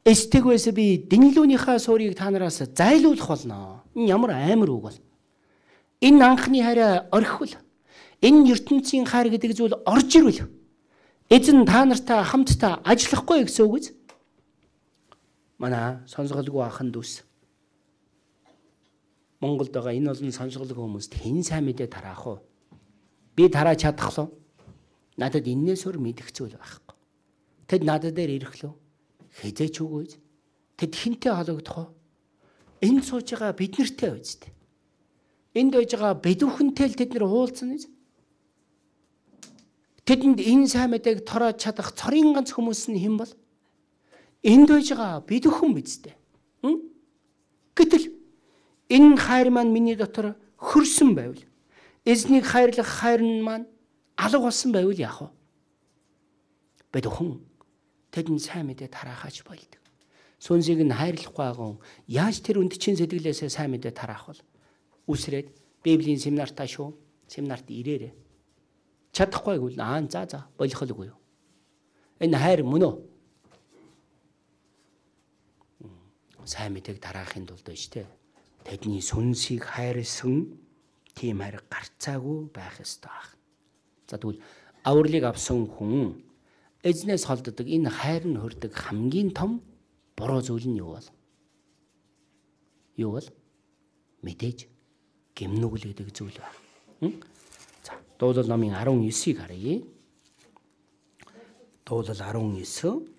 Эстэгвээс би дэнлүүнийхээ суурийг та нараас зайлуулах болно. Ямар амар үг бол. Энэ анхны хайраа орхивол энэ ертөнцийн хайр гэдэг зүйл орж ирвэл эзэн та нартай хамтдаа ажиллахгүй гэсэн үг үз. Манай сонсголгүй ахын дүүс. Монголд байгаа энэ олон сонсголгүй хүмүүст хэн сайн мэдээ тараах вэ? Би тарааж чадах лөө. Надад энээс өөр мэдэх зүйл байхгүй. Тэд надад дээр ирэх лөө. Хизээч үгүй. Тэд хинтээ хологдох вэ? Энд сууж байгаа бид нартэй үз. Энд байж байгаа бид бүхэнтэй л тэд нар уулзсан үз. Тэдэнд энэ сайн мэдээг тороож чадах цорын ганц хүмүүс нь хэн бол? Энд байж байгаа бид бүхэн биз дээ. Гэтэл энэ хайр маань миний дотор хөрсөн байвал, эзнийг хайрлах хайр нь маань алга болсон байвал яах вэ? Бид бүхэн тэдэнд сайн мэдээ тараахаач болдог. Сүнсийг нь хайрлахгүй агун яаж тэр үндчин сэтгэлээсээ сайн мэдээ тараах вэ? Үсрээд Библийн семинартаа шүү. Семинарт ирээрээ. Чадахгүй гэвэл аа за за болохгүй юу. Энэ хайр мөн үү? Сайн мэдээг тараахын тулд байж тээ. Тэдний сүнсийг хайрлсан тийм хайр гарцаагүй байх ёстой. За тэгвэл авралыг авсан хүн эзнээс холддог энэ хайр нь хүрдэг хамгийн том буруу зүйл нь юу бол? Юу бол? Мэдээж гимнүгэл гэдэг зүйл байна. За дуулал номын арван девятыг харъя. Дуулал арван девять.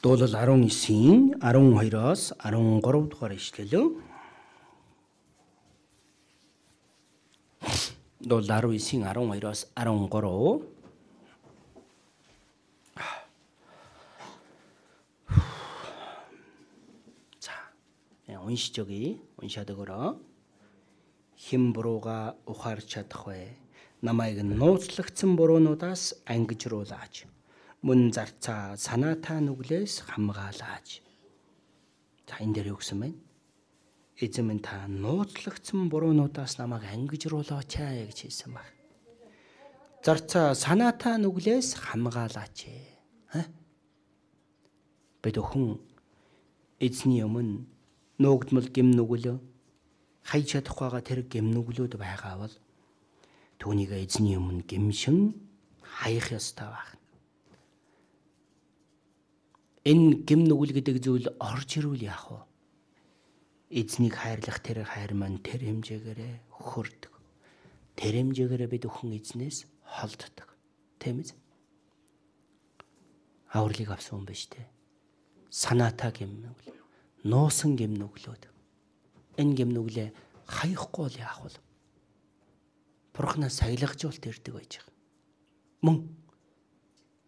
Дуулал арван девятийн арван хоёроос арван гурав дугаар ишлэл. Дуулал дөрвөн дөрвөн дөрвөн. 자, уншиж өгье. Уншаад өгөрөө. Хэн бурууга ухаарч чадах вэ? Намайг нууцлагдсан буруунуудаас ангижруулаач. Мөн зарцаа санаатай нүглээс хамгаалаач. За энэ дээр юу гэсэн бэ? Эзэн минь та нууцлагдсан буруунуудаас намайг ангижруулаач гэж хэлсэн баг. Зарцаа санаатай нүглээс хамгаалаач. Бид өхөн эзний өмнө нуугдмал гэм нүглөө хайж чадах байгаа тэр гэм нүглүүд байгаа бол түүнийг эзний өмнө гэмшин хаях ёстой байна. Энэ гэм нүгэл гэдэг зүйл орж ирвэл яах вэ? Эзнийг хайрлах тэр хайр маань тэр хэмжээгээрээ хөрдөг. Тэр хэмжээгээрээ бид өхөн эзнээс холддог. Тийм ээ? Авралыг авсан юм биш үү? Санаатай гэм нүгэл, нуусан гэм нүглүүд. Энэ гэм нүглээ хаяхгүй бол яах вэ? Бурханаас сахилгажуулт ирдэг байж байгаа. Мөн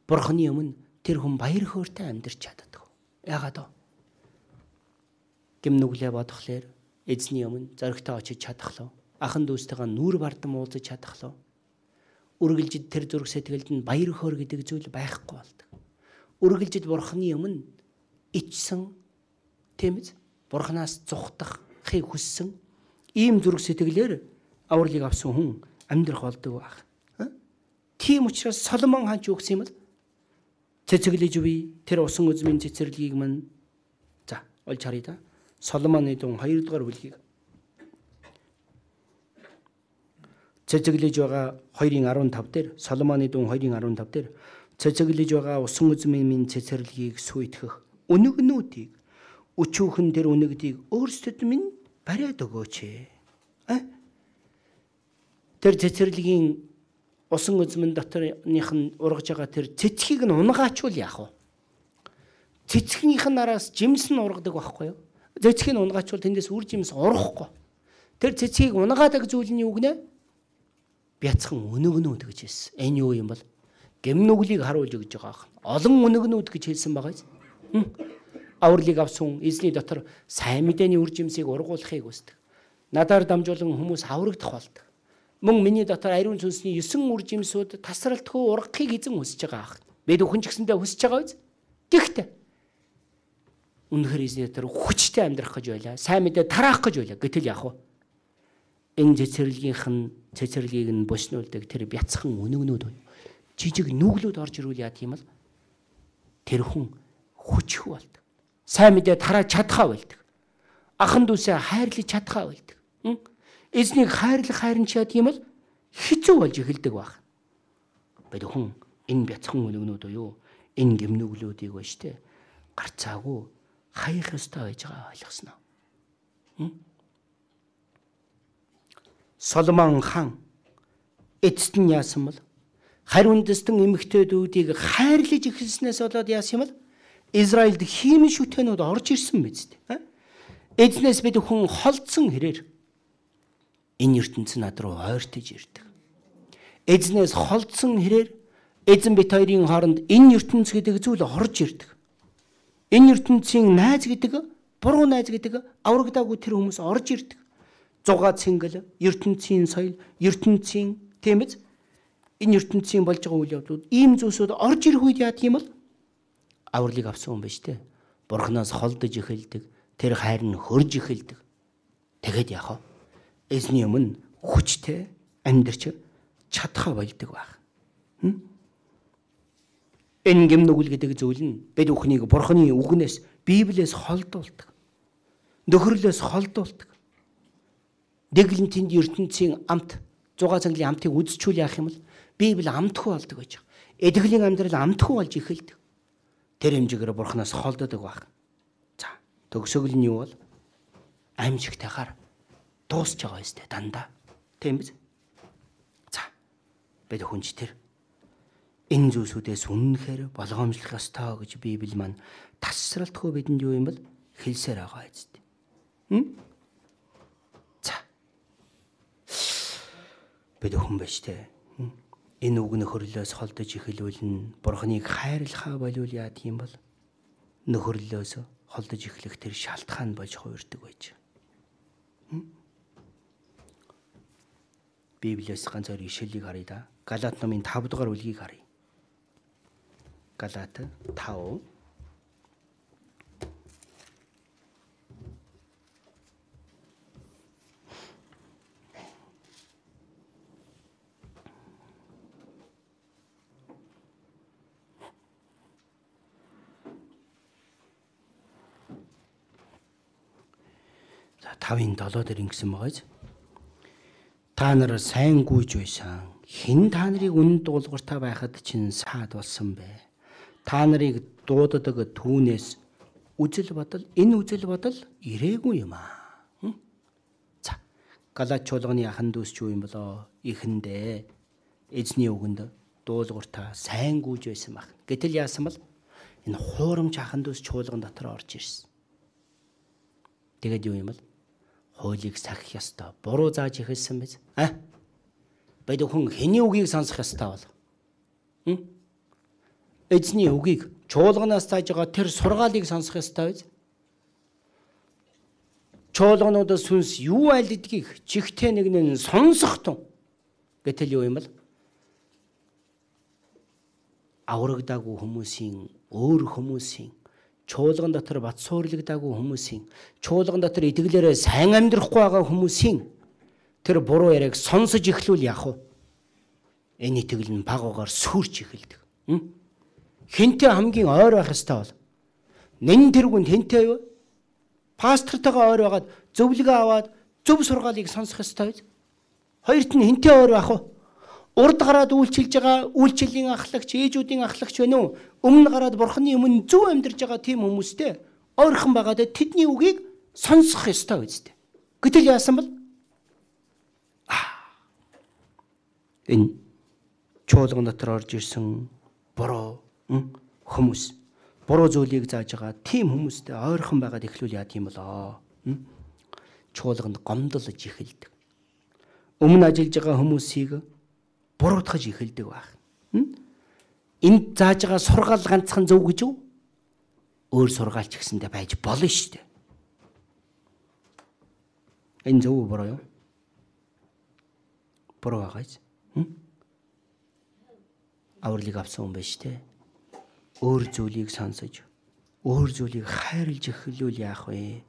Бурханы өмнө тэр хүн баяр хөөртэй амьдарч чаддаг. Яагаад вэ? Гэм нүглээ бодохлоор эзний өмнө зоригтой очиж чадахлаа. Ахан дүүстэйгээ нүүр бардам уулзаж чадахлаа. Үргэлжид тэр зүрх сэтгэлд нь баяр хөөр гэдэг зүйл байхгүй болдог. Үргэлжид Бурханы өмнө ичсэн, тийм ээ? Бурханаас зүхтахыг хүссэн ийм зүрх сэтгэлээр авралыг авсан хүн амьдрах болдог баг. Тийм учраас Соломон хаан ч юу гэсэн юм бэ? Цэцэглэж буй тэр усан үзмийн цэцэрлэгийг мань за олж харъя да. Соломоны дун хоёр дугаар бүлгийг цэцэглэж байгаа хоёрын арван тав дээр Соломоны дун хоёрын арван тав дээр цэцэглэж байгаа усан үзмийн цэцэрлэгийг сүйтгэх өнөгнүүдийг өчүүхэн тэр өнөгдийг өөрсдөд минь бариад өгөөч. А? Тэр цэцэрлэгийн усан үзмэн доторных нь ургаж байгаа тэр цэцгийг нь унгаачвал яах вэ? Цэцгийнхээ нараас жимс нь ургадаг байхгүй юу? Цэцгийг нь унгаачвал тэндээс үр жимс урахгүй. Тэр цэцгийг унгаадаг зүйл нь юу гэнэ? Бяцхан өнөгнүүд гэж хэлсэн. Энэ юу юм бол? Гэм нүглийг харуулж өгж байгаа. Олон өнөгнүүд гэж хэлсэн байгаа юм. Авралыг авсан эзний дотор сайн мэдээний үр жимсийг ургуулахыг хүсдэг. Надаар дамжуулан хүмүүс аврагдах болдог. Мөн миний дотор ариун сүнсний есөн үр жимсүүд тасралтгүй ургахыг эзэн хүсэж байгаа ах. Бид өхөн ч гэсэндээ хүсэж байгаа биз? Гэхдээ үнэхээр эзний дотор хүчтэй амьдрах гэж байлаа. Сайн мэдээ тараах гэж байлаа. Гэтэл яах вэ? Энэ цэцэрлэгийнх нь цэцэрлэгийг нь бушнуулдаг тэр бяцхан өнөгнүүд байна. Жижиг нүглүүд орж ирүүл яа тийм л тэр хүн хүчгүй болдог. Сайн мэдээ тарааж чадхаа болдог. Ахан дүүсээ хайрлаж чадхаа болдог. Эзнийг хайрлах хайрч яа тийм л хэцүү болж эхэлдэг баг. Бид хүн энэ бяцхан өнөгнүүд уу энэ гимнүглүүдийг ба штэ гарцаагүй хаях ёстой байж байгаа ойлгосноо. Соломон хаан эцэст нь яасан бол хариун дэстэн эмэгтэйдүүдийг хайрлаж эхэлснээс болоод яасан юм бол Израильд хиймэн шүтэнүүд орж ирсэн биз дээ. Эзнээс бид хүн холдсон хэрээр энэ ертөнцийн над руу ойртож ирдэг. Эзнээс холдсон хэрээр эзэн бит хоёрын хооронд энэ ертөнц гэдэг зүйл орж ирдэг. Энэ ертөнцийн найз гэдэг, буруу найз гэдэг аврагдаагүй тэр хүмүүс орж ирдэг. Зугаа цэнгэл, ертөнцийн соёл, ертөнцийн тийм ээ энэ ертөнцийн болж байгаа үйл явдлууд ийм зүйлсүүд орж ирэх үед яа тийм бол авралыг авсан хүн биш үү? Бурханаас холдож эхэлдэг. Тэр хайр нь хөрж эхэлдэг. Тэгэд яах вэ? Эзний өмнө хүчтэй амьдарч чадхаа болдог байх. Энэ гэм нүгэл гэдэг зүйл нь бид бүхнийг Бурханы үгнээс, Библиэс холдуулдаг. Нөхөрлөөс холдуулдаг. Дэглэн тэнд ертөнцийн амт, зугаа цангалын амтыг үзчихүүл яах юм бол Библи амтгүй болдог гэж. Эдгэлийн амьдрал амтгүй болж эхэлдэг. Тэр хэмжээгээр Бурханаас холддог байх. За, төгсгөл нь юу бол? Амжигтайгаар дуусч байгаа юм тест дандаа. Тийм биз? За. Бид хүнч тэр энэ зүйлсүүдээс үнэнхээр болгоомжлох ёстой гэж Библи маань тасралтгүй бидэнд юу юм бол хэлсээр байгаа эцтэй. Хм? За. бид хүн байж тээ. Энэ үг нөхөрлөөс холдож эхлүүлнэ. Бурхныг хайрлахаа болвол яад юм бол нөхөрлөөс холдож эхлэх тэр шалтгаан болж хуурдаг байж. Библиэс ганц хоёр ишлэлийг харъя да. Галаат номын тав дугаар бүлгийг харъя. Галаат тав. тавын долоо дээр ингэсэн байгаач. Та нар сайн гүйж байсан. Хэн та нарыг үнэн дуулууртай байхад чинь саад болсон бэ? Та нарыг дууддаг түүнээс үзэл бодол, энэ үзэл бодол ирээгүй юм аа. За, Галаат чуулганы ахан дүүс ч юу юм болоо? Ихэндээ эзний үгэнд дуулууртай сайн гүйж байсан баг. Гэтэл яасан бол энэ хуурамч ахан дүүс чуулган дотор орж ирсэн. Тэгээд юу юм бол? Хуулийг сахих ёстой. Буруу зааж ихэлсэн биз? А? Бид хүн хэний үгийг сонсох ёстой бол? Хм? Эзний үгийг чуулганаас зааж байгаа тэр сургаалыг сонсох ёстой биз? Чуулгануудаас сүнс юу айлдгийг чихтэй нэг нь сонсох тун. Гэтэл юу юм бол? Аврагдаагүй хүмүүсийн, өөр хүмүүсийн, чуулган дотор бат суурлагдаагүй хүмүүсийн, чуулган дотор итгэлээрээ сайн амьдрахгүй байгаа хүмүүсийн тэр буруу яриаг сонсож эхлүүл яах вэ? Энэ итгэл нь багуугаар сүрч эхэлдэг. Хинтээ хамгийн ойр байх ёстой бол нэн тэргүнд хинтээ юу? Пастортойгоо ойр байгаад зөвлөгөө аваад зөв сургаалыг сонсох ёстой биз? Хоёрт нь хинтээ ойр байх вэ? Урд гараад үйлчилж байгаа үйлчлэлийн ахлагч, ээжүүдийн ахлагч байна уу? Өмнө гараад бурхны өмнө зөв амьдарч байгаа тийм хүмүүстэй ойрхон байгаад тэдний үгийг сонсох ёстой үстэй. Гэтэл яасан бол энэ чуулган дотор орж ирсэн буруу хүмүүс, буруу зүйлийг зааж байгаа тийм хүмүүстэй ойрхон байгаад эхлүүл яа тийм болоо. Чуулганд гомдолж эхэлдэг. Өмнө ажиллаж байгаа хүмүүсийг буруутгаж эхэлдэг байх. Энд зааж байгаа сургаал ганцхан зөв гэж үү? Өөр сургаалч гэсэндээ байж болно шүү дээ. Энэ зөв буруу юу? Буруу байгаач. Авралыг авсан хүн байж тээ. Өөр зүйлийг сонсож, өөр зүйлийг хайрлж эхлүүл яах вэ?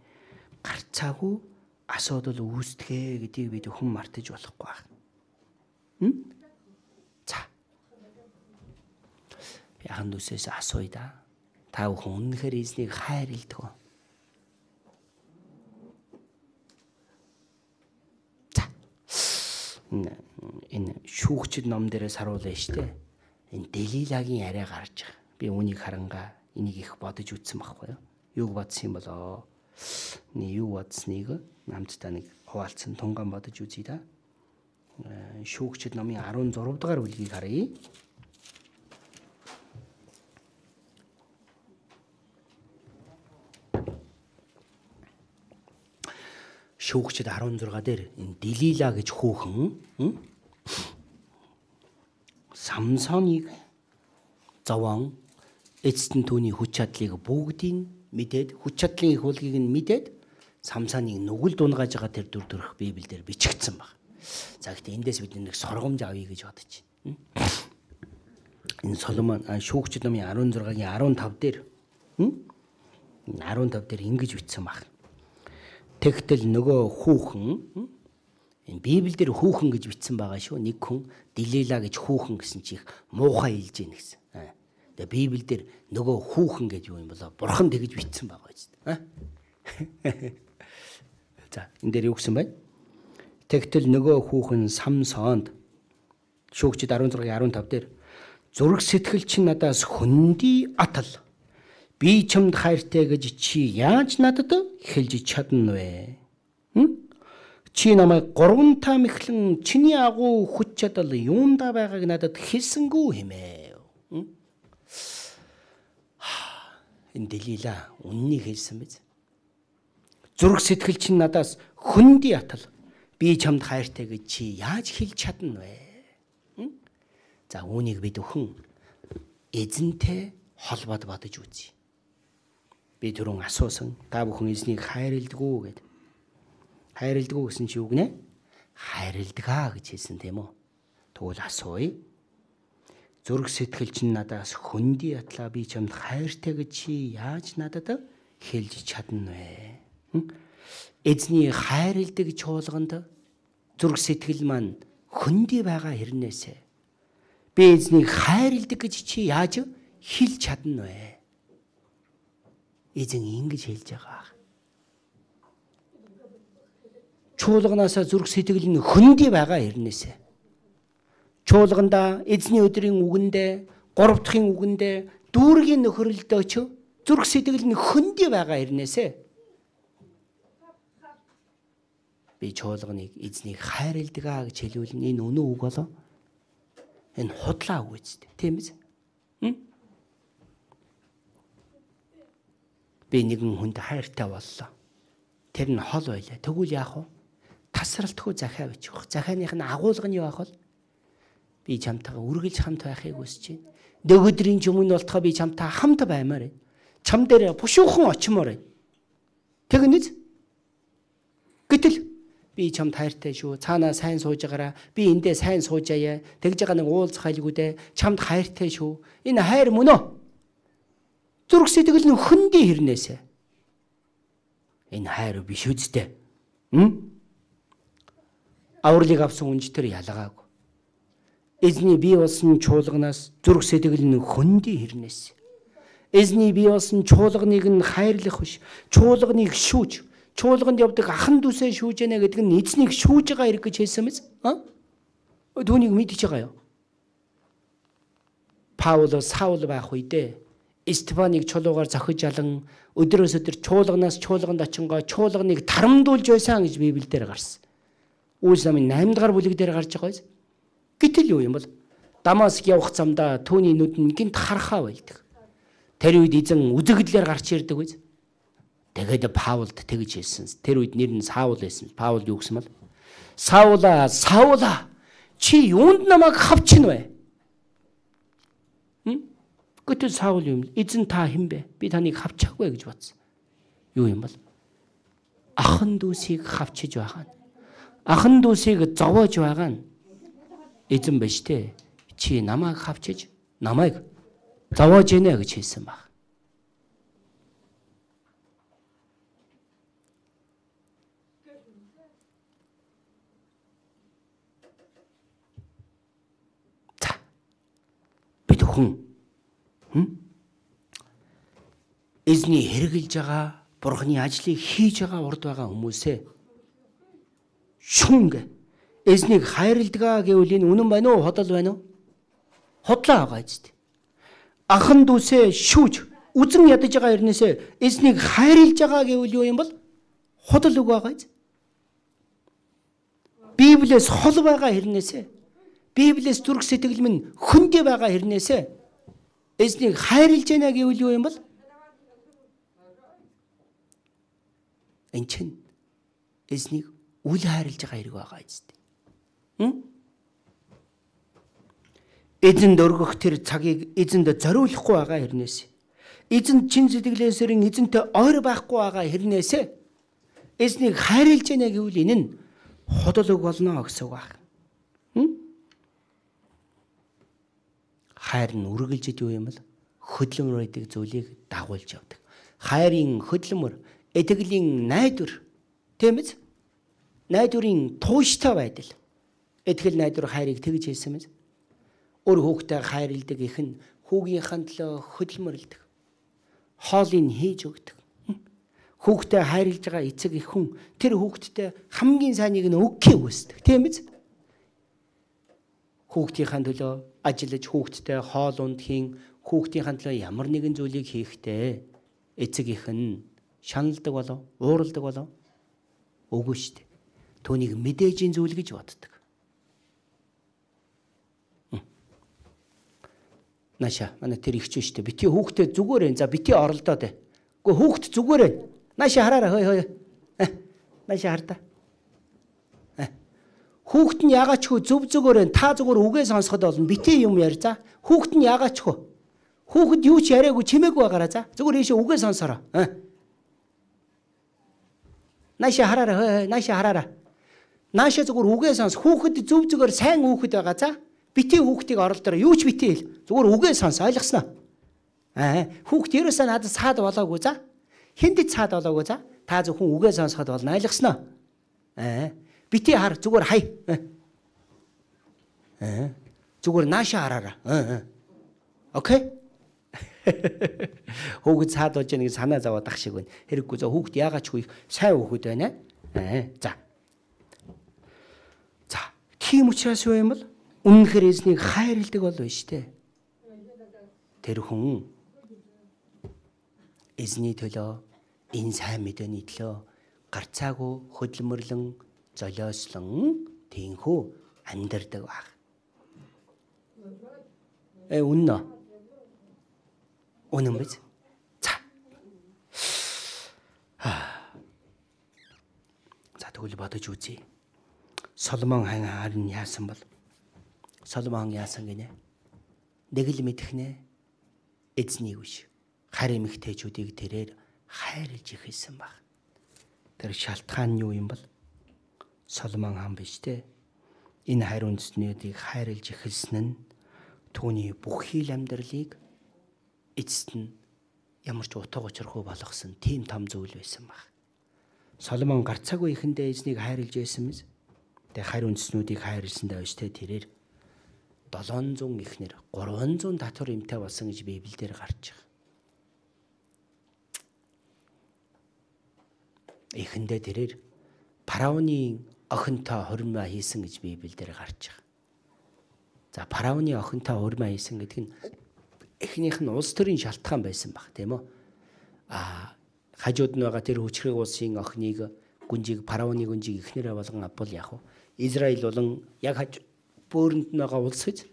Гарцаагүй асуудал үүсдэгэ гэдгийг бид хүн мартаж болохгүй байх. Яхан дүүсээс асууя да. Та бүхэн үнэхээр эзнийг хайрладаг уу? За. Энэ шүүгчд ном дээрээс харуулъя штэ. Энэ Делилагийн яриа гарч байгаа. Би үүнийг харангаа энийг их бодож үзсэн байхгүй юу? Юуг бодсон юм болоо? Нэг юу бодсныг намтдаа нэг хуваалцсан тунган бодож үзье да. Шүүгчд номын арван зурав дахь бүлгийг харъя. Шүүгчд арван зурга дээр энэ Делила гэж хүүхэн Самсоныг зовоон эцэст нь түүний хүч чадлыг бүгдийг мэдээд, хүч чадлын их hulгийг нь мэдээд Самсоныг нүгэл дунгааж байгаа тэр дүр төрх Библиэлд бичигдсэн баг. За гэхдээ эндээс бид нэг сургамж авъя гэж бодож байна. Энэ Соломон шүүгчд номын арван зургагийн арван тав дээр арван тав дээр ингэж бичсэн баг. Тэгтэл нөгөө хүүхэн энэ Библиэлд хүүхэн гэж бичсэн байгаа шүү. Нэг хүн Делила гэж хүүхэн гэсэн чих муухай илж ийн гэсэн. Тэгээ Библиэлд нөгөө хүүхэн гэж юу юм болоо? Бурхан тэгж бичсэн байгаа ч. За энэ дээр юу гэсэн бэ? Тэгтэл нөгөө хүүхэн Самсонд шүүгчд арван зургийн арван тав дээр зүрх сэтгэл чинь надаас хөндөй атал. Би чамд хайртай гэж чи яаж надад хэлж чадна вэ? Чи намайг гурван таамаглан чиний агуу хүч чадал юунда байгааг надад хэлсэнгүү хэмэв. Энэ Делила үннийг хэлсэн биз? Зүрх сэтгэл чинь надаас хөндөй атал. Би чамд хайртай гэж чи яаж хэлж чадна вэ? За үүнийг бид өхөн эзэнтэй холбоод бодож үзье. Би түрүүн асуусан та бүхэн эзнийг хайрладаг уу гэд. Хайрладаг уу гэсэн чи үг нэ? Хайрладгаа гэж хэлсэн тийм үү? Тэгвэл асууя. Зүрх сэтгэл чинь надаас хөндөй ятлаа би чамд хайртай гэж чи яаж надад хэлж чадна вэ? Эзний хайрладаг чуулганд зүрх сэтгэл маань хөндөй байгаа хэрнээсээ би эзнийг хайрладаг гэж чи яаж хэлж чадна вэ? Эзэн ингэж хэлж байгаа. Чуулганаасаа зүрх сэтгэл нь хөндөй байгаа хэрнээсээ чуулганда эзний өдрийн үгэндээ гурав дахын үгэндээ дүүргийн нөхрөлдөө ч зүрх сэтгэл нь хөндөй байгаа хэрнээсээ би чуулганыг эзнийг хайрладаг гэж хэлвэл энэ үнэн үг болоо. Энэ худлаа үг үст. Тийм биз? Би нэгэн хүнд хайртай боллоо. Тэр нь хол байлаа. Тэгвэл яах вэ? Тасралтгүй захиа бичих. Захианых нь агуулга нь юу ах вэ? Би чамтайгаа үргэлж хамт байхыг хүсэж байна. Нөгөөдрийн ч өмнө болтохоо би чамтай хамт баймаар байна. Чам дээр бушуухан очимоор байна. Тэгнэз? Гэтэл би чамд хайртай шүү. Цаанаа сайн сууж байгаараа. Би эндээ сайн сууж аяа. Тэгж байгаа нэг уулзах айлгүүдээ чамд хайртай шүү. Энэ хайр мөн үү? Зүрх сэтгэл нь хөндөй хэрнээсэ. Энэ хайр биш үсттэй. Хм? Авралыг авсан үнж төр ялгаагүй. Эзний бий болсон чуулганаас зүрх сэтгэл нь хөндөй хэрнээс. Эзний бий болсон чуулганыг нь хайрлах биш. Чуулганыг шүүж, чуулганд явдаг ахан дүүсээ шүүж яана гэдэг нь эзнийг шүүж байгаа хэрэг гэж хэлсэн мэз? А? Түүнийг мэдчихэж байгаа юу? Паул Саул байх үедээ Стефаныг чулуугаар зохиж алан өдрөөс өдөр чуулганаас чуулганд очингоо чуулганыг тарамдуулж байсан гэж Библиэлд гарсан. Үйлс намын наймд дахь бүлэг дээр гарч байгаа биз? Гэтэл юу юм бол Дамаск явах замдаа түүний нүд нь гинт харахаа байлдаг. Тэр үед эзэн үзэгдлээр гарч ирдэг биз? Тэгээд Паулд тэгж хэлсэн. Тэр үед нэр нь Саул байсан. Паул юу гэсэн бол Саула, Саула чи юунд намайг хавчихна вэ? Хм? Гэтэл Саул юм. Эзэн та хэн бэ? Би таныг хавчихгүй гэж бодсон. Юу юм бол ахан дүүсийг хавчиж байгаа нь. Ахан дүүсийг зовоож байгаа нь эзэн биш те. Чи намайг хавчиж, намайг зовоож ийнэ гэж хэлсэн баг. За. Бид хүн хм? Эзний хэрэгжилж байгаа, Бурхны ажлыг хийж байгаа урд байгаа хүмүүсээ шүнг эзнийг хайрладаг гэвэл энэ үнэн байна уу? Ходол байна уу? Хотлоо байгаа зү. Ахан дүүсээ шүүж үзэн ядаж байгаа хэрнээсээ эзнийг хайрлаж байгаа гэвэл юу юм бол ходол үг байгаа зү. Библиэс хол байгаа хэрнээсээ Библиэс зүрх сэтгэл минь хөндөй байгаа хэрнээсээ эзнийг хайрлаж байна гэвэл юу юм бол энэ чинь эзнийг үл хайрлаж байгаа хэрэг байгаа зү. Эзэнд өргөх тэр цагийг эзэнд зориулахгүй байгаа хэрнээс эзэнд чин сэтгэлээсэрэн эзэнтэй ойр байхгүй байгаа хэрнээсээ эзнийг хайрлаж байна гэвэл энэ нь ходол үг болно гэсэн үг байна. Хайр нь үргэлжид юу юм бол хөдөлмөр гэдэг зүйлийг дагуулж явдаг. Хайрын хөдөлмөр, этгэлийн найдвар, тийм ээ? Найдварын тууштай байдал. Этгэл найдвар хайрыг тэгж хэлсэн мэз. Өөр хүүхдээ хайрладаг их нь хүүгийнхээ төлөө хөдөлмөрлөдөг. Хоолыг хийж өгдөг. Хүүхдээ хайрлаж байгаа эцэг их хүн тэр хүүхдтэй хамгийн сайныг нь өгөхийг хүсдэг. Тийм биз? Хүүхдийнхээ төлөө ажиллаж хүүхдтэй хоол ундхийн, хүүхдийнхээ төлөө ямар нэгэн зүйлийг хийхдээ эцэг их нь шаналдаг болов, уурладаг болов? Үгүй шүү дээ. Түүнийг мэдээжийн зүйл гэж боддог. Наша манай тэр ихч шүү дээ. Бити хүүхдэд зүгээр ээ. За бити оролдоод ээ. Гэхдээ хүүхд зүгээр ээ. Наша хараараа хой хой. Наша хартаа. Хүүхэд нь ягаачгүй зөв зөвгөөрэн та зүгээр үгээ сонсоход болно. Битээ юм яар за. Хүүхэд нь ягаачгүй. Хүүхэд юу ч яриаггүй чимээгүй байгаараа за. Зүгээр ийшээ үгээ сонсороо. Наашаа хараараа, наашаа хараараа. Наашаа зүгээр үгээ сонс. Хүүхэд зөв зөвгөр сайн хүүхэд байгаа за. Битээ хүүхдийг оролдороо. Юу ч битээ хэл. Зүгээр үгээ сонс. Ойлгосноо? Аа, хүүхэд ерөөсөө надад цаад болоогүй за. Хэнд цаад болоогүй за. Та зөвхөн үгээ сонсоход болно. Ойлгосноо? Аа. Битээ хар зүгээр хай. Аа. Зүгээр наашаа хараараа. Аа. Окей. Хүүхэд цаад болж байгаа нэг санаа зовоод ах шиг байна. Хэрэггүй за хүүхэд яагаачгүй сайн хүүхэд байна. Аа. За. За. Тийм учраас юу юм бол үнэнхээр эзнийг хайрладаг бол байна шүү дээ. Тэр хүн эзний төлөө энэ сайн мэдээний төлөө гарцаагүй хөдөлмөрлөн золиослон тийхүү амьдардаг баг. Э үннэ. Үнэн биз? За. За тэгвэл бодож үзье. Соломон хаан харин яасан бол? Соломон яасан гинэ? Нэг л мэдхнэ. Эзнийг биш. Харин эмэгтэйчүүдийг тэрээр хайрлж ихсэн баг. Тэр шалтгаан нь юу юм бол? Соломон хаан биш те. Энэ хайр үндэстнүүдийг хайрлж ихэлсэн нь түүний бүх хил амьдралыг эцэст нь ямар ч утга учиргүй болгосон тийм том зүйл байсан баг. Соломон гарцаагүй ихэндээ эзнийг хайрлж байсан мэз. Тэгээ хайр үндэстнүүдийг хайрлсандаа биш те тэрээр долоон зуун ихнэр гурван зуун татвар эмтэй болсон гэж Библиэлд гарч байгаа. Ихэндээ тэрээр фараоны охинтой хурмаа хийсэн гэж Библиэлд гарч байгаа. За фараоны охинтой хурмаа хийсэн гэдэг нь эхнийх нь улс төрийн шалтгаан байсан баг тийм үү? А хажууд нь байгаа тэр хүчрэг улсын охиныг гүнжиг фараоны гүнжиг эхнэрээ болгон авбал яг уу Израиль болон яг хаж бөөрөнд нь байгаа улс гэж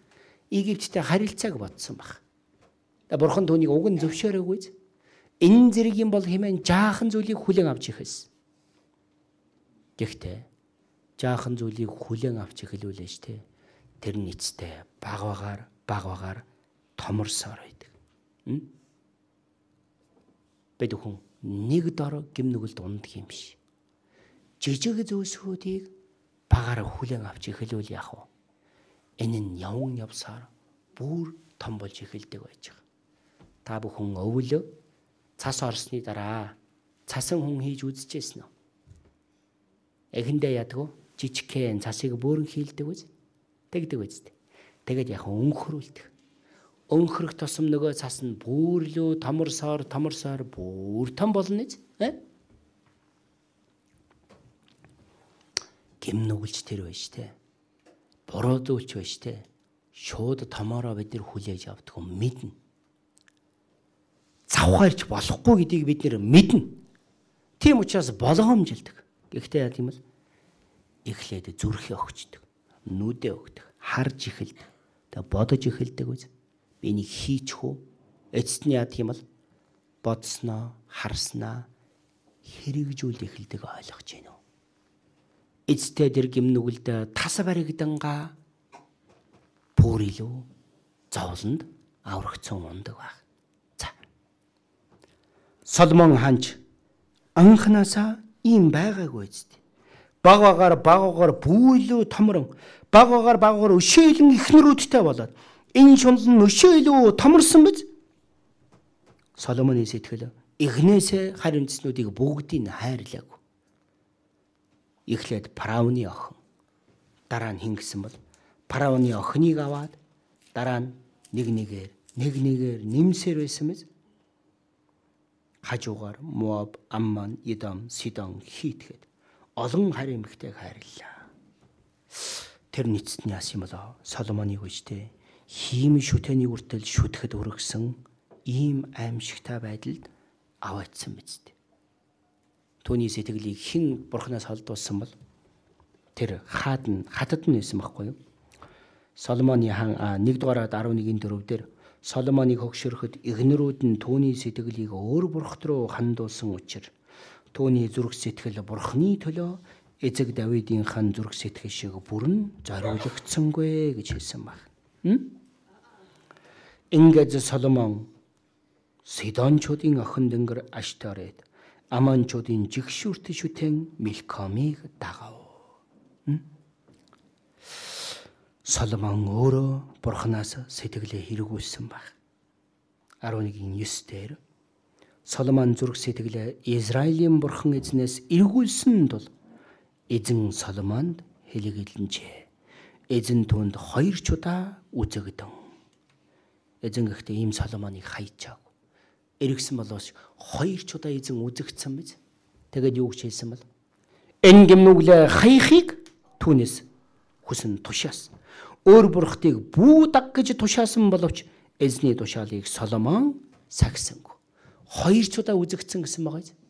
Египттэй харилцааг бодсон баг. Тэгээ бурхан түүнийг уг нь зөвшөөрөөгүй. Энэ зэрэг юм бол хэмээн жаахан зүйлийг хүлээн авч ихсэн. Гэхдээ жаахан зүйлийг хүлээн авч эхлүүлээ ш тэ. Тэр нь эцтэй баг багаар баг багаар томорсоор байдаг. Бид хүн нэг дор гимнүгэлд унддаг юм биш. Жижиг зүйлсүүдийг багаар хүлээн авч эхлүүл яах вэ? Энэ нь явн явсаар бүр том болж эхэлдэг байж байгаа. Та бүхэн өвөл цас орсны дараа цасан хүн хийж үзчихсэн үү? Эхэндээ ядгүй жижигхэн цасыг бөөрн хийлдэг үз. Тэгдэг үз. Тэгээд яг өнхрүүлдэг. Өнхрөх тусам нөгөө цас нь бүүрлөө томорсоор томорсоор бүр том болно биз? Гимнүгэлж тэр байж тээ. Буруудуулч байж тээ. Шууд томоороо бид нэр хүлээж авдаг юм мэднэ. Завхаарч болохгүй гэдгийг бид нэр мэднэ. Тийм учраас болгоомжилдаг. Гэхдээ яа тийм л эхлээд зүрхээ өгчдөг. Нүдээ өгдөг. Харж эхэлдэг. Тэгээ бодож эхэлдэг үз. Би нэг хийчих үү? Эцэст нь яа тийм л бодсноо, харснаа хэрэгжүүл эхэлдэг ойлгож байна уу? Эцтэй тэр гимнүгэлд тас баригдангаа бүр илүү зовлонд аврагцсан ундаг баг. За. Соломон хаанч анханасаа ийм байгаагүй зү. Баг багаар баг багаар бүйлүү томрон баг багаар баг багаар өшөөлөн ихнэрүүдтэй болоод энэ шунал нь өшөөлөө томорсон биз? Соломоны сэтгэл эхнээсээ харь үндэстнүүдийг бүгдийг хайрлаагүй. Эхлээд фараоны охин. Дараа нь хин гэсэн бол фараоны охиныг аваад дараа нь нэг нэгээр нэг нэгээр нэмсээр байсан биз? Хажуугаар Моаб, Аммон, Едом, Сидон, Хит гээд олон харь эмэгтэйг хайрлаа. Тэр нийцэд нь яасан юм болоо? Соломоныг үжтэй хийм шүтэний үртэл шүтгэд өргөсөн ийм аимшигтай байдалд аваадсан биз дээ. Түүний сэтгэлийг хэн бурхнаас холдуулсан бол тэр хаад нь хатад нь байсан байхгүй юу? Соломоны хаан нэгдүгээр арав нэгний дөрөв дээр Соломоныг хөгшөрөхөд игнэрүүд нь түүний сэтгэлийг өөр бурхт руу хандуулсан учраас түүний зүрх сэтгэл бурхны төлөө эзэг Давидын хан зүрх сэтгэл шиг бүрэн зориулагдсангүй гэж хэлсэн баг. Ингээд Соломон Сидончуудын охин дэнгэр Ашторет, Амончуудын жигшүүрт шүтэн Милкомыг дагав. Соломон өөрөө Бурханаас сэтгэлээ хэрэгүүлсэн баг. арван нэгэн девять дээр Соломон зүрх сэтгэлээ Израилийн Бурхан эзнээс эргүүлсэн тул эзэн Соломонд хэлэгэлэнчээ. Эзэн түүнд хоёр ч удаа үзэгдэн. Эзэн гэхдээ ийм Соломоныг хайчаагүй. Эргэсэн болоос хоёр ч удаа эзэн үзэгдсэн биз. Тэгээд юу гэж хэлсэн бэл? Энэ гимнүглээ хаяхыг түүнээс хүсэн тушаас. Өөр бурхтыг бүү даг гэж тушаасан боловч эзний тушаалыг Соломон сагсангүй. Хоёр ч удаа үзэгдсэн гэсэн байгаа юм.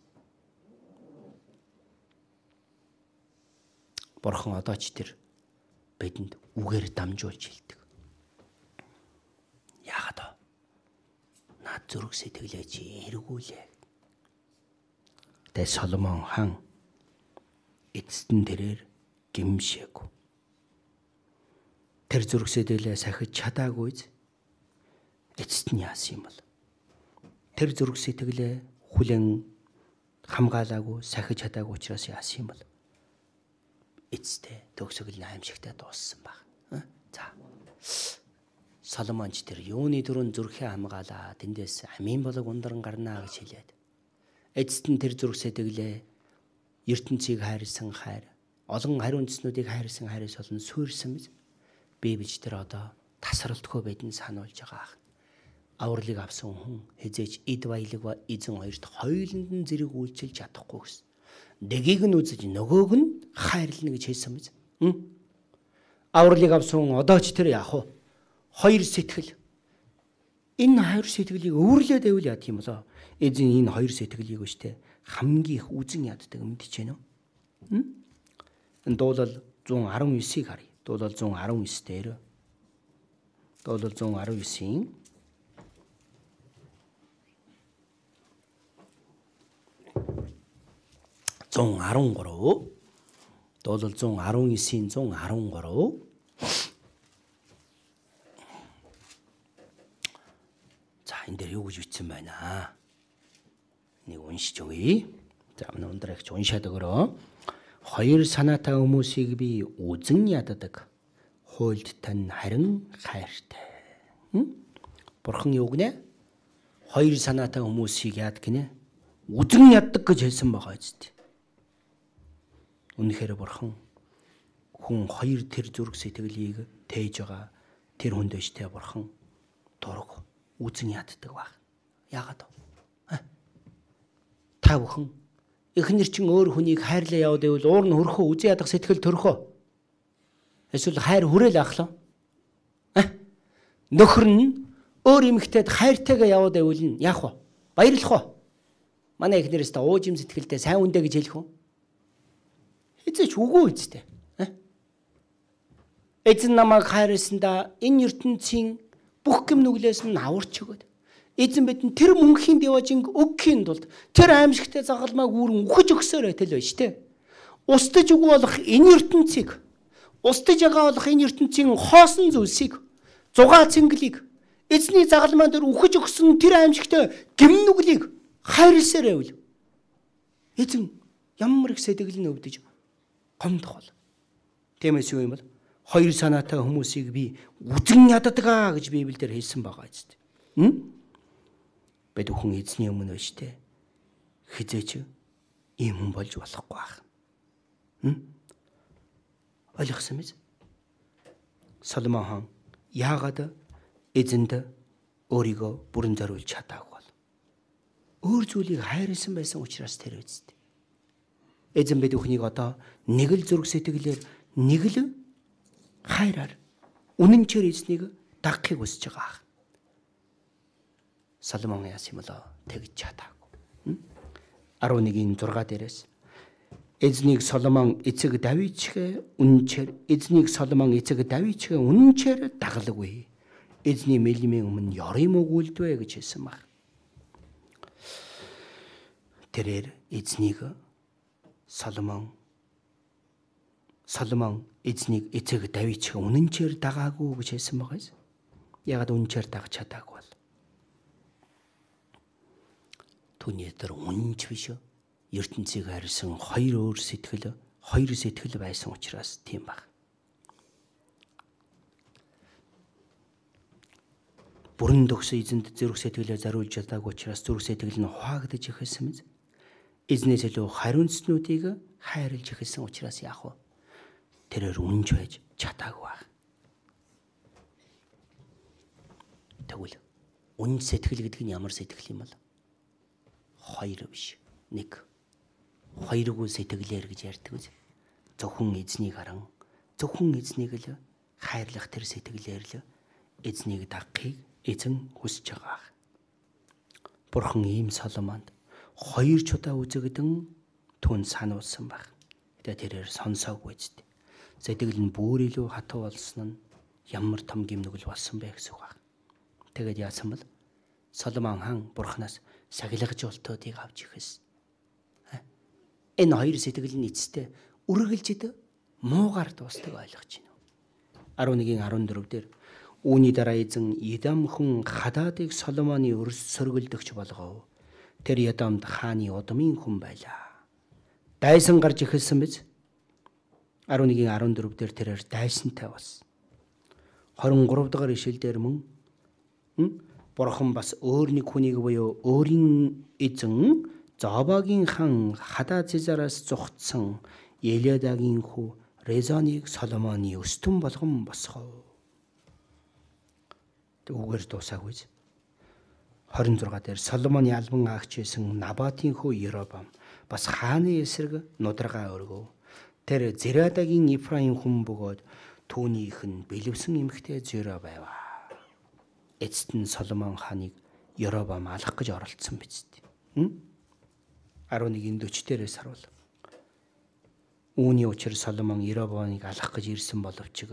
Бурхан одоо ч тэр бидэнд үгээр дамжуулж хэлдэг. Яагаад вэ? Наад зүрх сэтгэлээ чи эргүүлээ. Тэ Соломон хан эцэстэн тэрээр гимшээгүй. Тэр зүрх сэтгэлээ сахиж чадаагүйз эцэст нь яасан юм бол? Тэр зүрх сэтгэлээ хүлэн хамгаалаагүй, сахиж чадаагүй учраас яасан юм бол? Эцэстээ төгсгөл нь аимшигтай дууссан баг. За. Соломонч тэр юуны дөрөв зүрхээ хамгаалаа, тэндээс амийн болог ундран гарнаа гэж хэлээд. Эцэст нь тэр зүрх сэтгэлээ ертөнцийг хайрлсан хайр, олон хариу үндэснүүдийг хайрлсан хайраас олон суурьсан биз. Библи тэр одоо тасралтгүй байдэн сануулж байгаа ах. Авралыг авсан хүн хизээч эд баялаг ба эзэн хоёрт хоёуланд нь зэрэг үйлчилж чадахгүй гэсэн. Дэгийг нь үзэж нөгөөг нь хайрлна гэж хэлсэн биз. Авралыг авсан хүн одоо ч тэр яах вэ? Хоёр сэтгэл. Энэ хоёр сэтгэлийг өвөрлөөд байвал яа тийм болоо? Эзэн энэ хоёр сэтгэлийг өштэй хамгийн их үзэн яддаг мэдчихэв нөө. Энэ дуулал one nineteen харъя. Дуулал one nineteen дээр Дуулал one nineteen-ийн one thirteen Дуулал one nineteen-ийн one thirteen За энэ дээр юу гэж бичсэн байна? Нэг уншиж өгье. За өнөөдөр их уншаад өгөрөө. Хоёр санаатай хүмүүсийг би үзэн яддаг. Хуйлд тань харин хайртай. Бурхан юу гинэ? Хоёр санаатай хүмүүсийг яад гинэ? Үзэн яддаг гэж хэлсэн байгаа зү. Үнэхээр Бурхан хүн хоёр тэр зүрх сэтгэлийг тээж байгаа тэр хүнд өштэй Бурхан дург үзэн яддаг баг. Яагаад вэ? Та бүхэн эхнэр чинь өөр хүнийг хайрлаа яваад байвал уур нь хөрхөө үзэн ядах сэтгэл төрхөө. Эсвэл хайр хүрээл ахлаа. Нөхөр нь өөр эмэгтэйд хайртайгаа яваад байвал нь яах вэ? Баярлах вэ? Манай эхнэрээс та уужим сэтгэлтэй сайн үндэ гэж хэлэх үү? Эцээч үгүй үстэй. Эзэн намайг хайрласандаа энэ ертөнцийн бүх гэм нүглээс минь аварч өгöd. Эзэн бидэнд тэр мөнхийн деважинг өгөхийн тулд тэр аимшигтай загалмайг үүрэн үхэж өгсөөр байтал байж тээ. Устдаж үгүй болох энэ ертөнцийг, устдаж байгаа болох энэ ертөнцийн хоосон зүйлсийг, зугаа цэнгэлийг эзний загалмай дээр үхэж өгсөн тэр аимшигтай гэм нүглийг хайрласаар байвал эзэн ямар их сэтгэл нь өвдөж гомдох бол. Тиймээс юу юм бол хоёр санаатай хүмүүсийг би үзэн яддаг гэж Библиэлд хэлсэн байгаа зү. Хм? Бид хүн эзний өмнө өштэй хизээч ийм хүн болж болохгүй байх. Хм? Ойлгосон биз? Соломон хан яагаад эзэнд өөрийгөө бүрэн зориулж чадаагүй бол? Өөр зүйлийг хайрлсан байсан учраас тэр үсттэй. Эзэн бид бүхнийг одоо нэг л зүрх сэтгэлээр нэг л хайраар үнэнчээр эзнийг дагахыг хүсэж байгаа. Соломон яасан юм болоо тэгж чадаагүй. арван нэгэн зургаа дээрээс эзнийг Соломон эцэг Давидчгээ үнэнчээр эзнийг Соломон эцэг Давидчгээ үнэнчээр дагалгүй. Эзний мэлмийн өмнө ёрим өгүүлдвэ гэж хэлсэн баг. Тэрээр эзнийг Соломон Соломон эзнийг эцэг Давид шиг үнэнчээр дагаагүй гэж хэлсэн байгаа юм. Ягаад үнэнчээр дагаж чадаагүй бол? Түүний дээр үнэнч биш үү? ертөнцийг харьсан хоёр өөр сэтгэл, хоёр сэтгэл байсан учраас тийм баг. Бүрэн төгсөн эзэнд зүрх сэтгэлээ зариулж чадаагүй учраас зүрх сэтгэл нь хуваагдаж ихсэн мэт. Эзнээс илүү хариуцнуудыг хайрлж ихсэн учраас яах вэ? Тэрээр үнэнч байж чадаагүй баг. Тэгвэл үнэн сэтгэл гэдэг нь ямар сэтгэл юм бол? Хоёр биш, нэг. Хоёргүй сэтгэлээр гэж ярьдаг үз. Зөвхөн эзнийг харан, зөвхөн эзнийг л хайрлах тэр сэтгэлээр л эзнийг дагахыг эзэн хүсэж байгаа. Бурхан ийм Соломонд хоёр чудаа үзэгдэн түн сануулсан баг. Гэтэ тэрээр сонсоогүй зү. Сэтгэл нь бүр илүү хатуу болсон нь ямар том гимнүгэл болсон бэ гэсэн үг баг. Тэгээд яасан бэл Соломон хаан Бурханаас сахилгажуултуудыг авч ихэс. Энэ хоёр сэтгэл нь эцэстээ үргэлжид муугаар дуустдаг ойлгож байна. арван-ын арван дөрөв дээр үүний дараа эзэн Эдом хүн Хададыг Соломоны өрс сөргөлдөгч болгов. Тэр Эдомд хааны удмын хүн байлаа. Дайсан гарч эхэлсэн биз? арван-ын арван дөрөв дээр тэрээр дайсантай болсон. хорин гурав дахь ишлэл дээр мөн Бурхан бас өөр нэг хүнийг буюу өөрийн эзэн Зобагийн хан Хададзараас зугтсан Еледагийн хүү Резоныг Соломоны өстөн болгон босгов. Түүгээр дуусаагүй. хорин зургаа дээр Соломоны албан агч байсан Набатын хүү Еробам бас хааны эсрэг нударгаа өргөв. Тэр Зерадагийн Ифраим хүн бөгөөд түүнийх нь бэлэвсэн эмхтэй зөрөө байв. Эцэст нь Соломон хааныг Еробам алах гэж оролцсон биз дээ. арван-ын дөрөв дээрээс харуул. Үүний учир Соломон Еробамыг алах гэж ирсэн боловч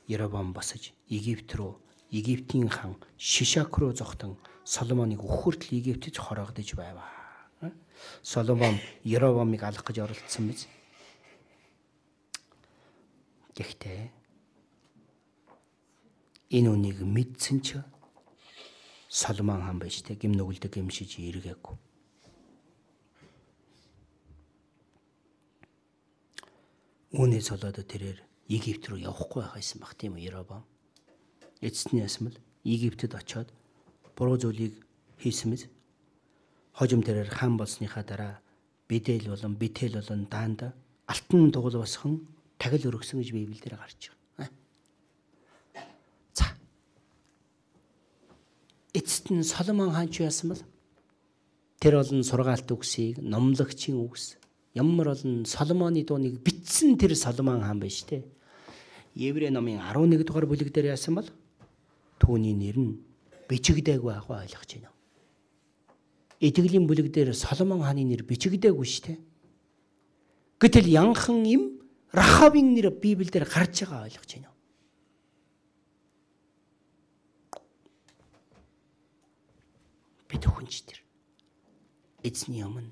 Еробам босож Египт рүү, Египтийн хан Шишак руу зогтон Соломоныг өхөртл Египтэд хороогдож байв. Соломон Еробамыг алах гэж оролцсон биз? Гэхдээ энэ үнийг мэдсэн ч Соломон хаан байж тэ гимнүгэлдэг гимшиж эргээгүй. Үүнээс болоод тэрээр Египт рүү явахгүй байхсан баг тийм үү Еробам. Эцэстний ясмал Египтэд очиод буруу зүйлийг хийсэн мэт. Хожим тэрээр хаан болсныхаа дараа Бэдэл болон Бетел болон Даанд алтан тугал босхон тагил өргөсөн гэж Библиэлд гарч байгаа. За. Эцэст нь Соломон хаан ч яасан бэл тэр болон сургаалт үгсийг номлогчийн үгс ямар болон Соломоны дууныг бичсэн тэр Соломон хаан байж тээ. Еврей номын арван нэг дугаар бүлэг дээр яасан бол түүний нэр нь бичигдээгүй байгааг ойлгож байна. Итгэлийн бүлэг дээр Соломон хааны нэр бичигдээгүй шүү дээ. Гэтэл янхан им Рахабын нэр Библиэлд гарч байгаа ойлгож байна. Бид хүнч тэр эзний өмнө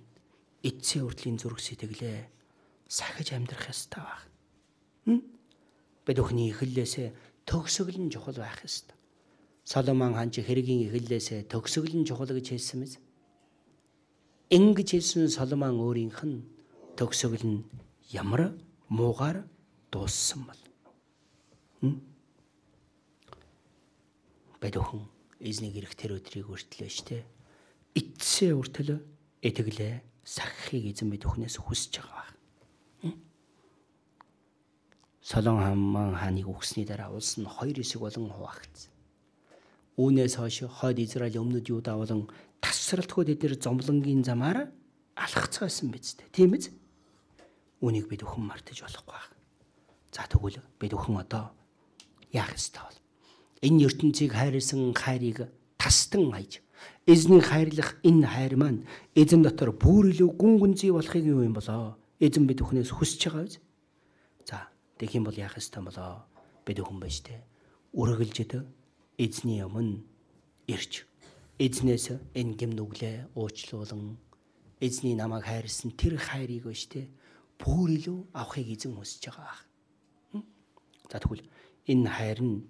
эцсийн хүртлийн зүрх сэтгэлээ сахиж амьдрах ёстой баг. Бид өхний эхлэлээсээ төгсгөл нь чухал байх ёстой. Соломон хаан ч хэргийн эхлэлээсээ төгсгөл нь чухал гэж хэлсэн мэз. Ингэж хэлсэн Соломон өөрийнх нь төгсгөл нь ямар муугаар дууссан бол. Бид өхөн эзнийг ирэх тэр өдрийг үртлээ штэ. Эцсийн хүртэл итгэлээ сахихыг эзэн бид өхнөөс хүсэж байгаа. Соломон хааныг үгсний дараа улс нь хоёр хэсэг болон хуваагдсан. Үүнээс хойш хойд Израиль өмнөд Юда болон тасралтгүй эдгээр зомлонгийн замаар алхацгаасан биз дээ. Тийм биз? Үүнийг бид өхөн мартаж болохгүй байна. За тэгвэл бид өхөн одоо яах ёстой бол? Энэ ертөнцийг хайрлсан хайрыг тастан хайж эзнийг хайрлах энэ хайр маань эзэн дотор бүр илүү гүн гүнзгий болохыг юу юм болоо? Эзэн бид өхнөөс хүсэж байгаа биз? За тэгэх юм бол яах ёстой болоо? Бид өхөн байж тээ. Үргэлжид эзний өмнө ирж эзнээс энэ гимнүглээ уучлуулан эзний намайг хайрлсан тэр хайрыг биш тээ бүр илүү авахыг эзэн хүсэж байгаа. За тэгвэл энэ хайр нь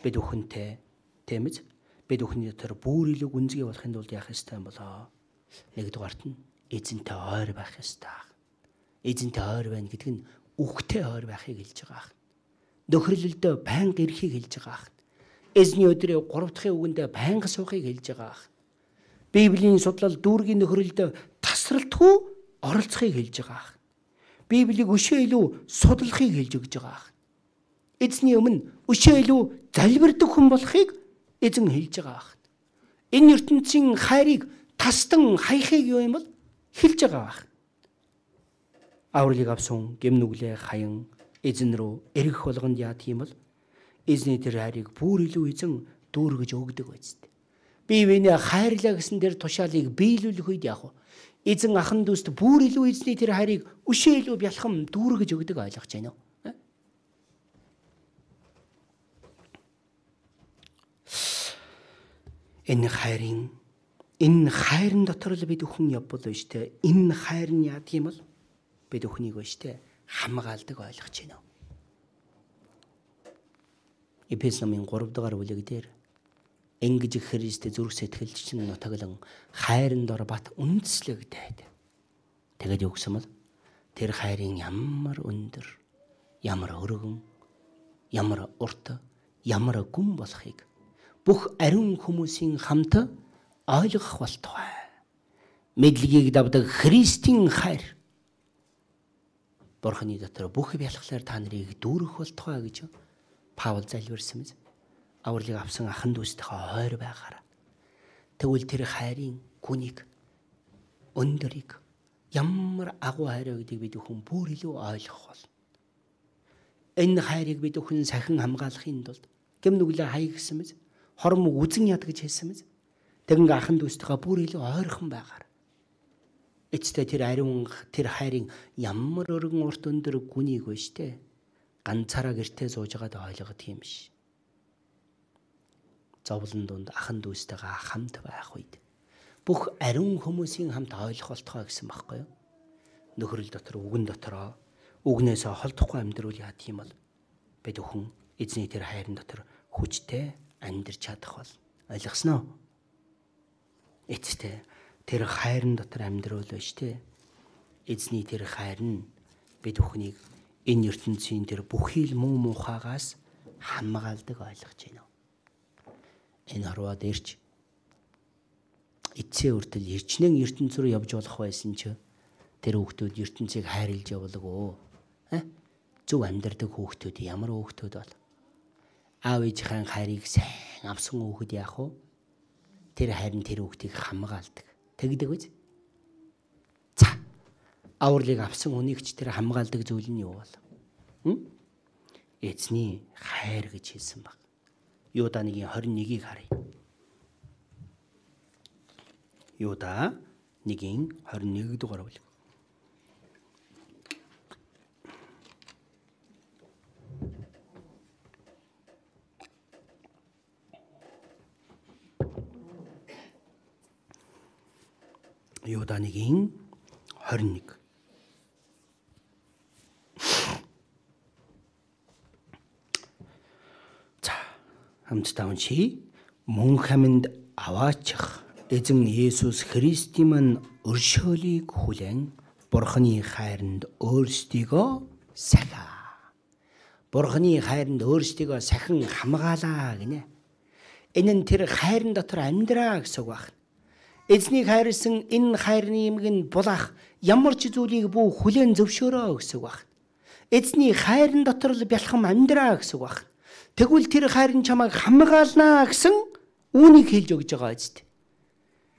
бид бүхэнтэй тийм ээ бид бүхний дотор бүр илүү гүнзгий болохын тулд яах ёстой юм болоо? Нэгдүгээрт нь эзэнтэй ойр байх ёстой. Эзэнтэй ойр байна гэдэг нь үхтэй ойр байхыг хэлж байгаа. Нөхөрлөлдөө байнга ирэхийг хэлж байгаа. Эзний өдрийн гурав дахь үгэндээ байнга суухыг хэлж байгаа. Библийн судлал дүүргийн нөхөрлөлдөө тасралтгүй оролцохыг хэлж байгаа. Библийг өшөө илүү судлахыг хэлж өгж байгаа. Эзний өмнө өшөө илүү залбирдаг хүн болохыг эзэн хэлж байгаа. Энэ ертөнцийн хайрыг тастан хаяхыг юу юм бол хэлж байгаа. Авралыг авсан гэмнүглээ хаян эзэн рүү эргэх болгонд яа тийм бол эзний тэр хайрыг бүр илүү эзэн дүүргэж өгдөг байц. Бие биенээ хайрлаа гэсэн тэр тушаалыг биелүүлэх үед яах вэ? Эзэн ахан дүүст бүр илүү эзний тэр хайрыг өшөө илүү бялхам дүүргэж өгдөг ойлгож байна уу? Энэ хайрын энэ хайрын дотор л бид бүхэн явбал биш те. Энэ хайр нь яа тийм бол бид бүхнийг биш те хамгаалдаг ойлгож байна уу? Эфес номын гурав дахь бүлэг дээр ингэж Христ зүрх сэтгэлч чинь нутаглан хайрын дор бат үндэслэгдээд тэгээд юу гэсэн бол тэр хайрын ямар өндөр, ямар өргөн, ямар урт, ямар гүн болохыг бүх ариун хүмүүсийн хамт ойлгох болтугай. Мэдлэгийг давдаг Христийн хайр Бурхны дотор бүх бялхлаар та нарыг дүүргэх болтугай гэж Паул залбирсан мэт. Авралыг авсан ахан дүүстэйгээ ойр байгаарай. Тэгвэл тэр хайрын гүнийг, өндөрийг ямар агуу хайр вэ гэдгийг бид бүхэн бүр илүү ойлгох бол. Энэ хайрыг бид бүхэн сахин хамгаалахын тулд гэмнүглээ хаяа гэсэн мэт. Хором үзэн яд гэж хэлсэн мэт. Тэгэн ахан дүүстэйгээ бүр илүү ойрхон байгаарай. Эцтэй тэр ариун тэр хайрын ямар өргөн урт өндөр гүнийг вэ штэ. Ганцаараа гэртээ сууж байгаад ойлгох юм биш. Зовлон донд ахан дүүстэйгээ хамт байх үед бүх ариун хүмүүсийн хамт ойлгох болтгоо гэсэн баггүй юу? Нөхрөл дотор үгэн дотороо үгнээсээ холдохгүй амьдруул яа тийм бол бид бүхэн эзний тэр хайрын дотор хүчтэй амьдарч чадах бол ойлгосноо? Эцтэй тэр хайрын дотор амьдруул биш те. Эзний тэр хайр нь бид бүхнийг энэ ертөнцийн тэр бүхий л муу мухагаас хамгаалдаг ойлгож байна. Энэ харваа дээрч эцсийн үртэл эрчнэн ертөнц рүү явж болох байсан ч тэр хүүхдүүд ертөнцийг хайрлж явдаг оо. Зөв амьдардаг хүүхдүүд ямар хүүхдүүд бол аав ээжийн хайрыг сайн авсан хүүхэд яах вэ? Тэр хайр нь тэр хүүхдийг хамгаалдаг. Тэгдэг биз? За. Авралыг авсан хүнийгч тэр хамгаалдаг зүйл нь юу бол? Хм? Эзний хайр гэж хэлсэн баг. Юда нэгin хорин нэгийг харъя. Юда нэгin хорин нэг дугаар бүлэг. Юда нэгin хорин нэг. Хамтдаа уншия. Мөн хаминд аваачих эзэн Есүс Христийн мань өршөөлийг хүлээн Бурхны хайранд өөрсдийгөө сахиа. Бурхны хайранд өөрсдийгөө сахин хамгаалаа гинэ. Энэ нь тэр хайрын дотор амьдраа гэсэн үг байна. Эзнийг хайрлсан энэ хайрны юмг нь булаах ямар ч зүйлийг бүү хүлээн зөвшөөрөө гэсэн үг байна. Эзний хайрын дотор л бялхам амьдраа гэсэн үг байна. Тэгвэл тэр хайрын чамайг хамгаалнаа гэсэн үүнийг хэлж өгж байгаа эцэст.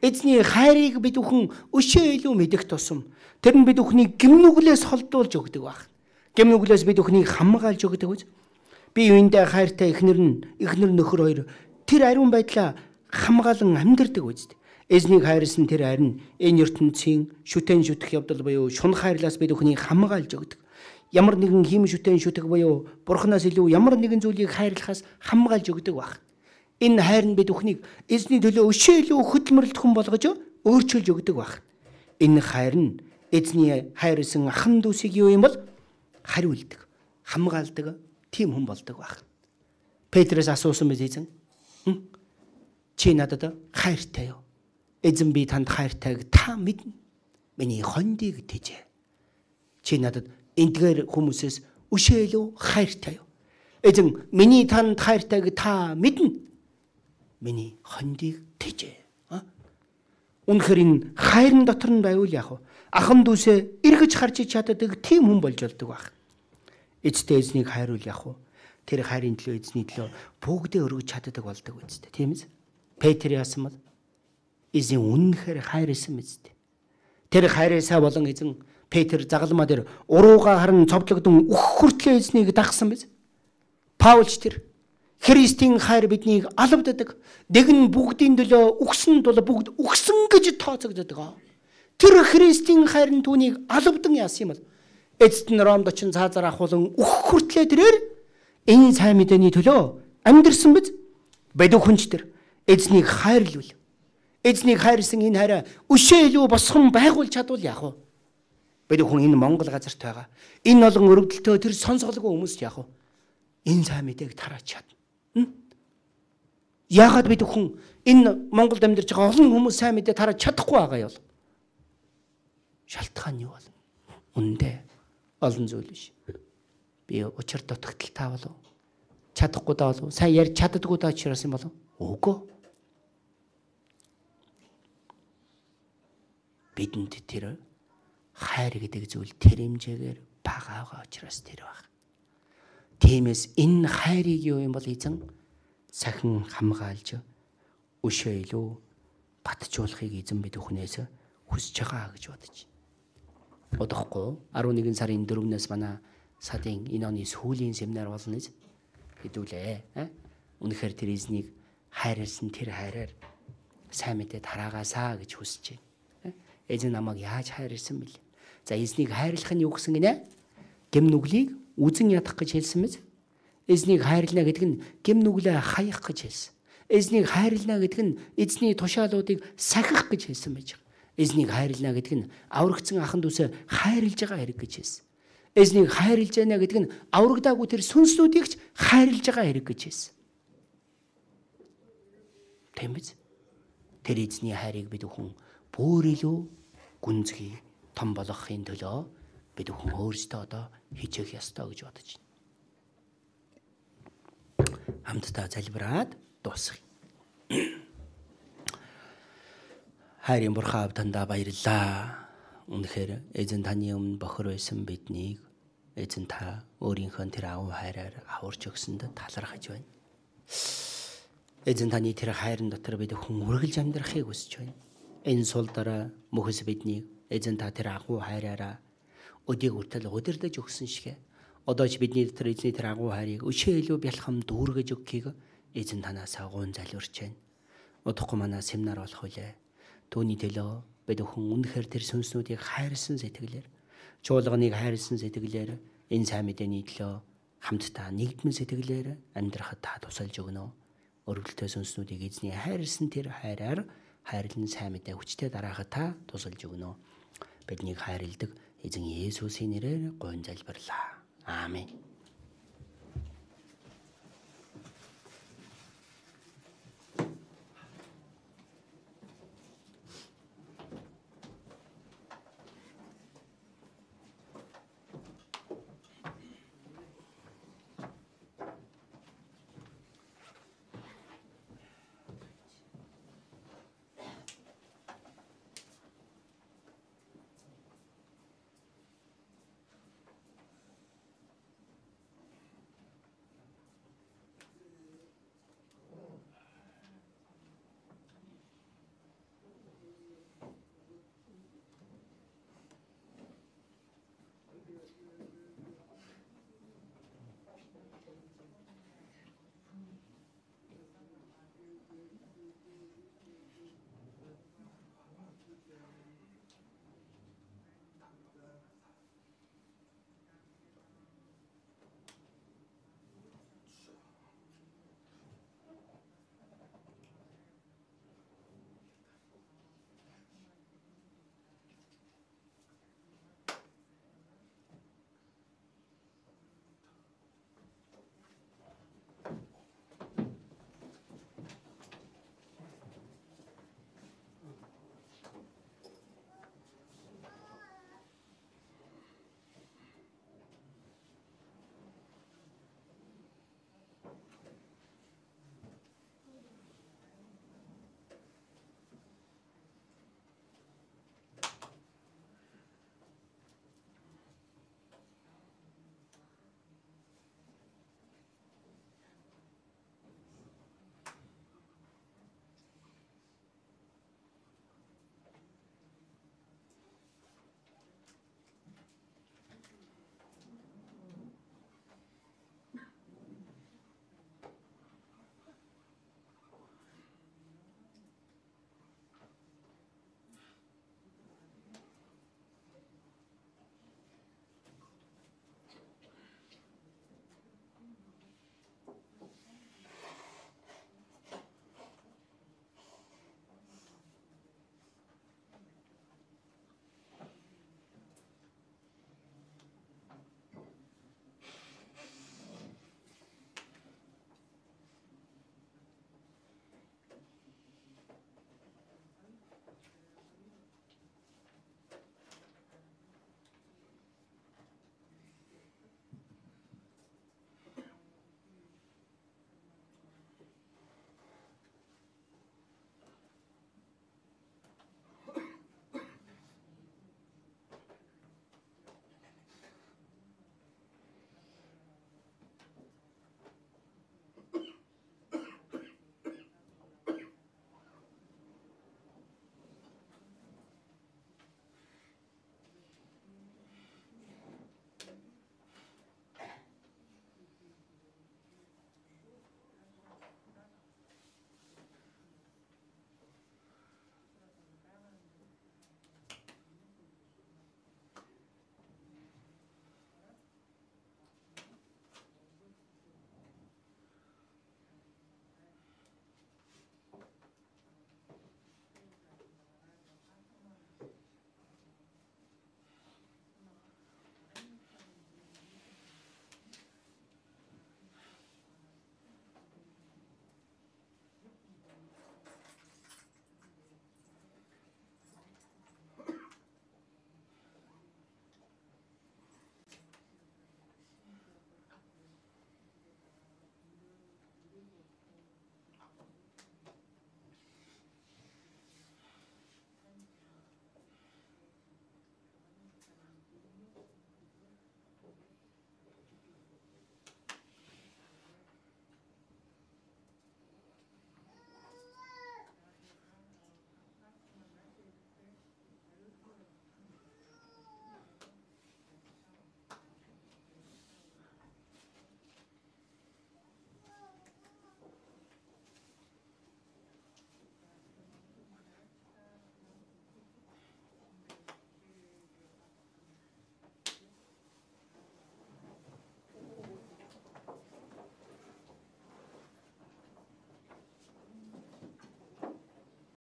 Эзний хайрыг бид бүхэн өшөө илүү мэдэх тусам тэр нь бид бүхнийг гэмнүглээс холдуулж өгдөг баг. Гэмнүглээс бид бүхнийг хамгаалж өгдөг үз. Би юундаа хайртай эхнэр нь эхнэр нөхөр хоёр тэр ариун байдлаа хамгаалan амьдэрдэг үз. Эзнийг хайрлсан тэр хайр нь энэ ертөнцийн шүтэн шүтэх явдал буюу шунах хайрлаас бид бүхнийг хамгаалж өгдөг. Ямар нэгэн хим шүтэн шүтэх буюу Бурханаас илүү ямар нэгэн зүйлийг хайрлахаас хамгаалж өгдөг баг. Энэ хайр нь бид бүхнийг эзний төлөө өшөө илүү хөдөлмөрлөлт хүн болгож өөрчилж өгдөг баг. Энэ хайр нь эзний хайрлсан ахан дүүсийг юу юм бол хариулдаг, хамгаалдаг, тийм хүн болдог баг. Петрээс асуусан мэт эзэн. Чи надад хайртай юу? Эзэн би танд хайртайг та мэднэ. Миний хондийг тэжээ. Чи надад эндгээр хүмүүсээс өшөөлөө хайртай юу? Эзэн миний танд хайртайг та мэднэ. Миний хондийг тэжээ. Үнэхээр энэ хайрын дотор нь байвал яах вэ? Ахан дүүсээ эргэж харж чаддаг тийм хүн болж болдог баг. Эцтэй эзнийг хайруул яах вэ? Тэр хайрын төлөө эзний төлөө бүгдээ өргөж чаддаг болдог үстэй. Тийм ээ. Петр яасан бол эзэн үнэхээр хайрлсан мэт. Тэр хайрээсаа болон эзэн Петр загалмаа дээр урууга харан цовдлогдсон үх хүртлээ эзнийг дагсан биз. Паулч тэр Христийн хайр биднийг алавддаг. Дэгэн бүгдийн төлөө өгсөн тул бүгд өгсөн гэж тооцогддог. Тэр Христийн хайр нь түүнийг алавдан яасан юм бол эцэст нь Ромд очин цаазаар ахуулан үх хүртлээ тэрээр энэ сайн мэдээний төлөө амьдэрсэн биз. Бэдүү хүнч тэр эзнийг хайрлуул. Эзнийг хайрсан энэ хайраа өшөөлөө босгон байгуул чадвал яах вэ? Бэдүү хүн энэ Монгол газарт байгаа. Энэ олон өргөдөлтөө тэр сонсголгүй хүмүүст яах вэ? Энэ сайн мэдээг тараач чадна. Яагаад бэдүү хүн энэ Монголд амьдарч байгаа олон хүмүүс сайн мэдээ тараач чадахгүй байгаа юм? Шалтгаан юу бол? Үндэ олон зүйл биш. Би учир дутагталтай болов. Чадахгүй даа болов. Сайн ярьж чаддаггүй даа учраас юм болов. Үгүй. Бидэнд тэр хайр гэдэг зүйл тэр хэмжээгээр бага байгаа учраас тэр баг. Тиймээс энэ хайрыг юу юм бол эзэн сахин хамгаалж өшөөлөө батжуулахыг эзэн бид өхнөөс хүсэж байгаа гэж бодож байна. Бодохгүй арван нэгэн сарын дөрөвнөөс манай садын энэ оны сүүлийн семинар болно гэж хэдүүлээ. Үнэхээр тэр эзнийг хайрлсан тэр хайраар сайн мэдээ тараагаасаа гэж хүсэж байна. Эзэн намайг яаж хайрлсан бэл? За эзнийг хайрлах нь юу гэсэн гинэ? Гэм нүглийг үзэн ядах гэж хэлсэн мэз. Эзнийг хайрлана гэдэг нь гэм нүглээ хаях гэж хэлсэн. Эзнийг хайрлана гэдэг нь эзний тушаалуудыг сахих гэж хэлсэн байж байгаа. Эзнийг хайрлана гэдэг нь аврагдсан ахан дүүсээ хайрлж байгаа хэрэг гэж хэлсэн. Эзнийг хайрлж байна гэдэг нь аврагдаагүй тэр сүнслүүдийг ч хайрлж байгаа хэрэг гэж хэлсэн. Тийм биз? Тэр эзний хайрыг бид хүн бүр илүү гүнзгий том болгохын төлөө бид хүн өөрсдөө одоо хийчих ёстой гэж бодож байна. Хамтдаа залбираад дуусгая. Хайрын Бурхан тандаа баярлалаа. Үнэхээр эзэн таны өмнө бохор байсан биднийг эзэн та өөрийнхөө тэр агуу хайраар аварч өгсөнд талархаж байна. Эзэн таны тэр хайрын дотор бид хүн үргэлж амьдрахыг хүсэж байна. Энэ сул дараа мөхөс биднийг эзэн та тэр агуу хайраараа өдийг үртэл удирдах өгсөн шигэ. Одоо ч бидний дотор эзний тэр агуу хайрыг өшөөлөө бялхам дүүргэж өгөхийг эзэн танаас агуун залбирч байна. Удахгүй манай семинар болох үлээ. Түүний төлөө бид хүн үнэхээр тэр сүнснүүдийг хайрлсан сэтгэлээр, чуулганыг хайрлсан сэтгэлээр энэ сайн мэдээний төлөө хамтдаа нэгдмэн сэтгэлээр амьдрахад та тусалж өгнө. Өргөлтөө сүнснүүдийг эзний хайрлсан тэр хайраар хайрлан сайн мэдээ хүчтэй дараахад та тусалж өгнө. Биднийг хайрладаг эзэн Есүсийн нэрээр гуйн залбирлаа. Аамен.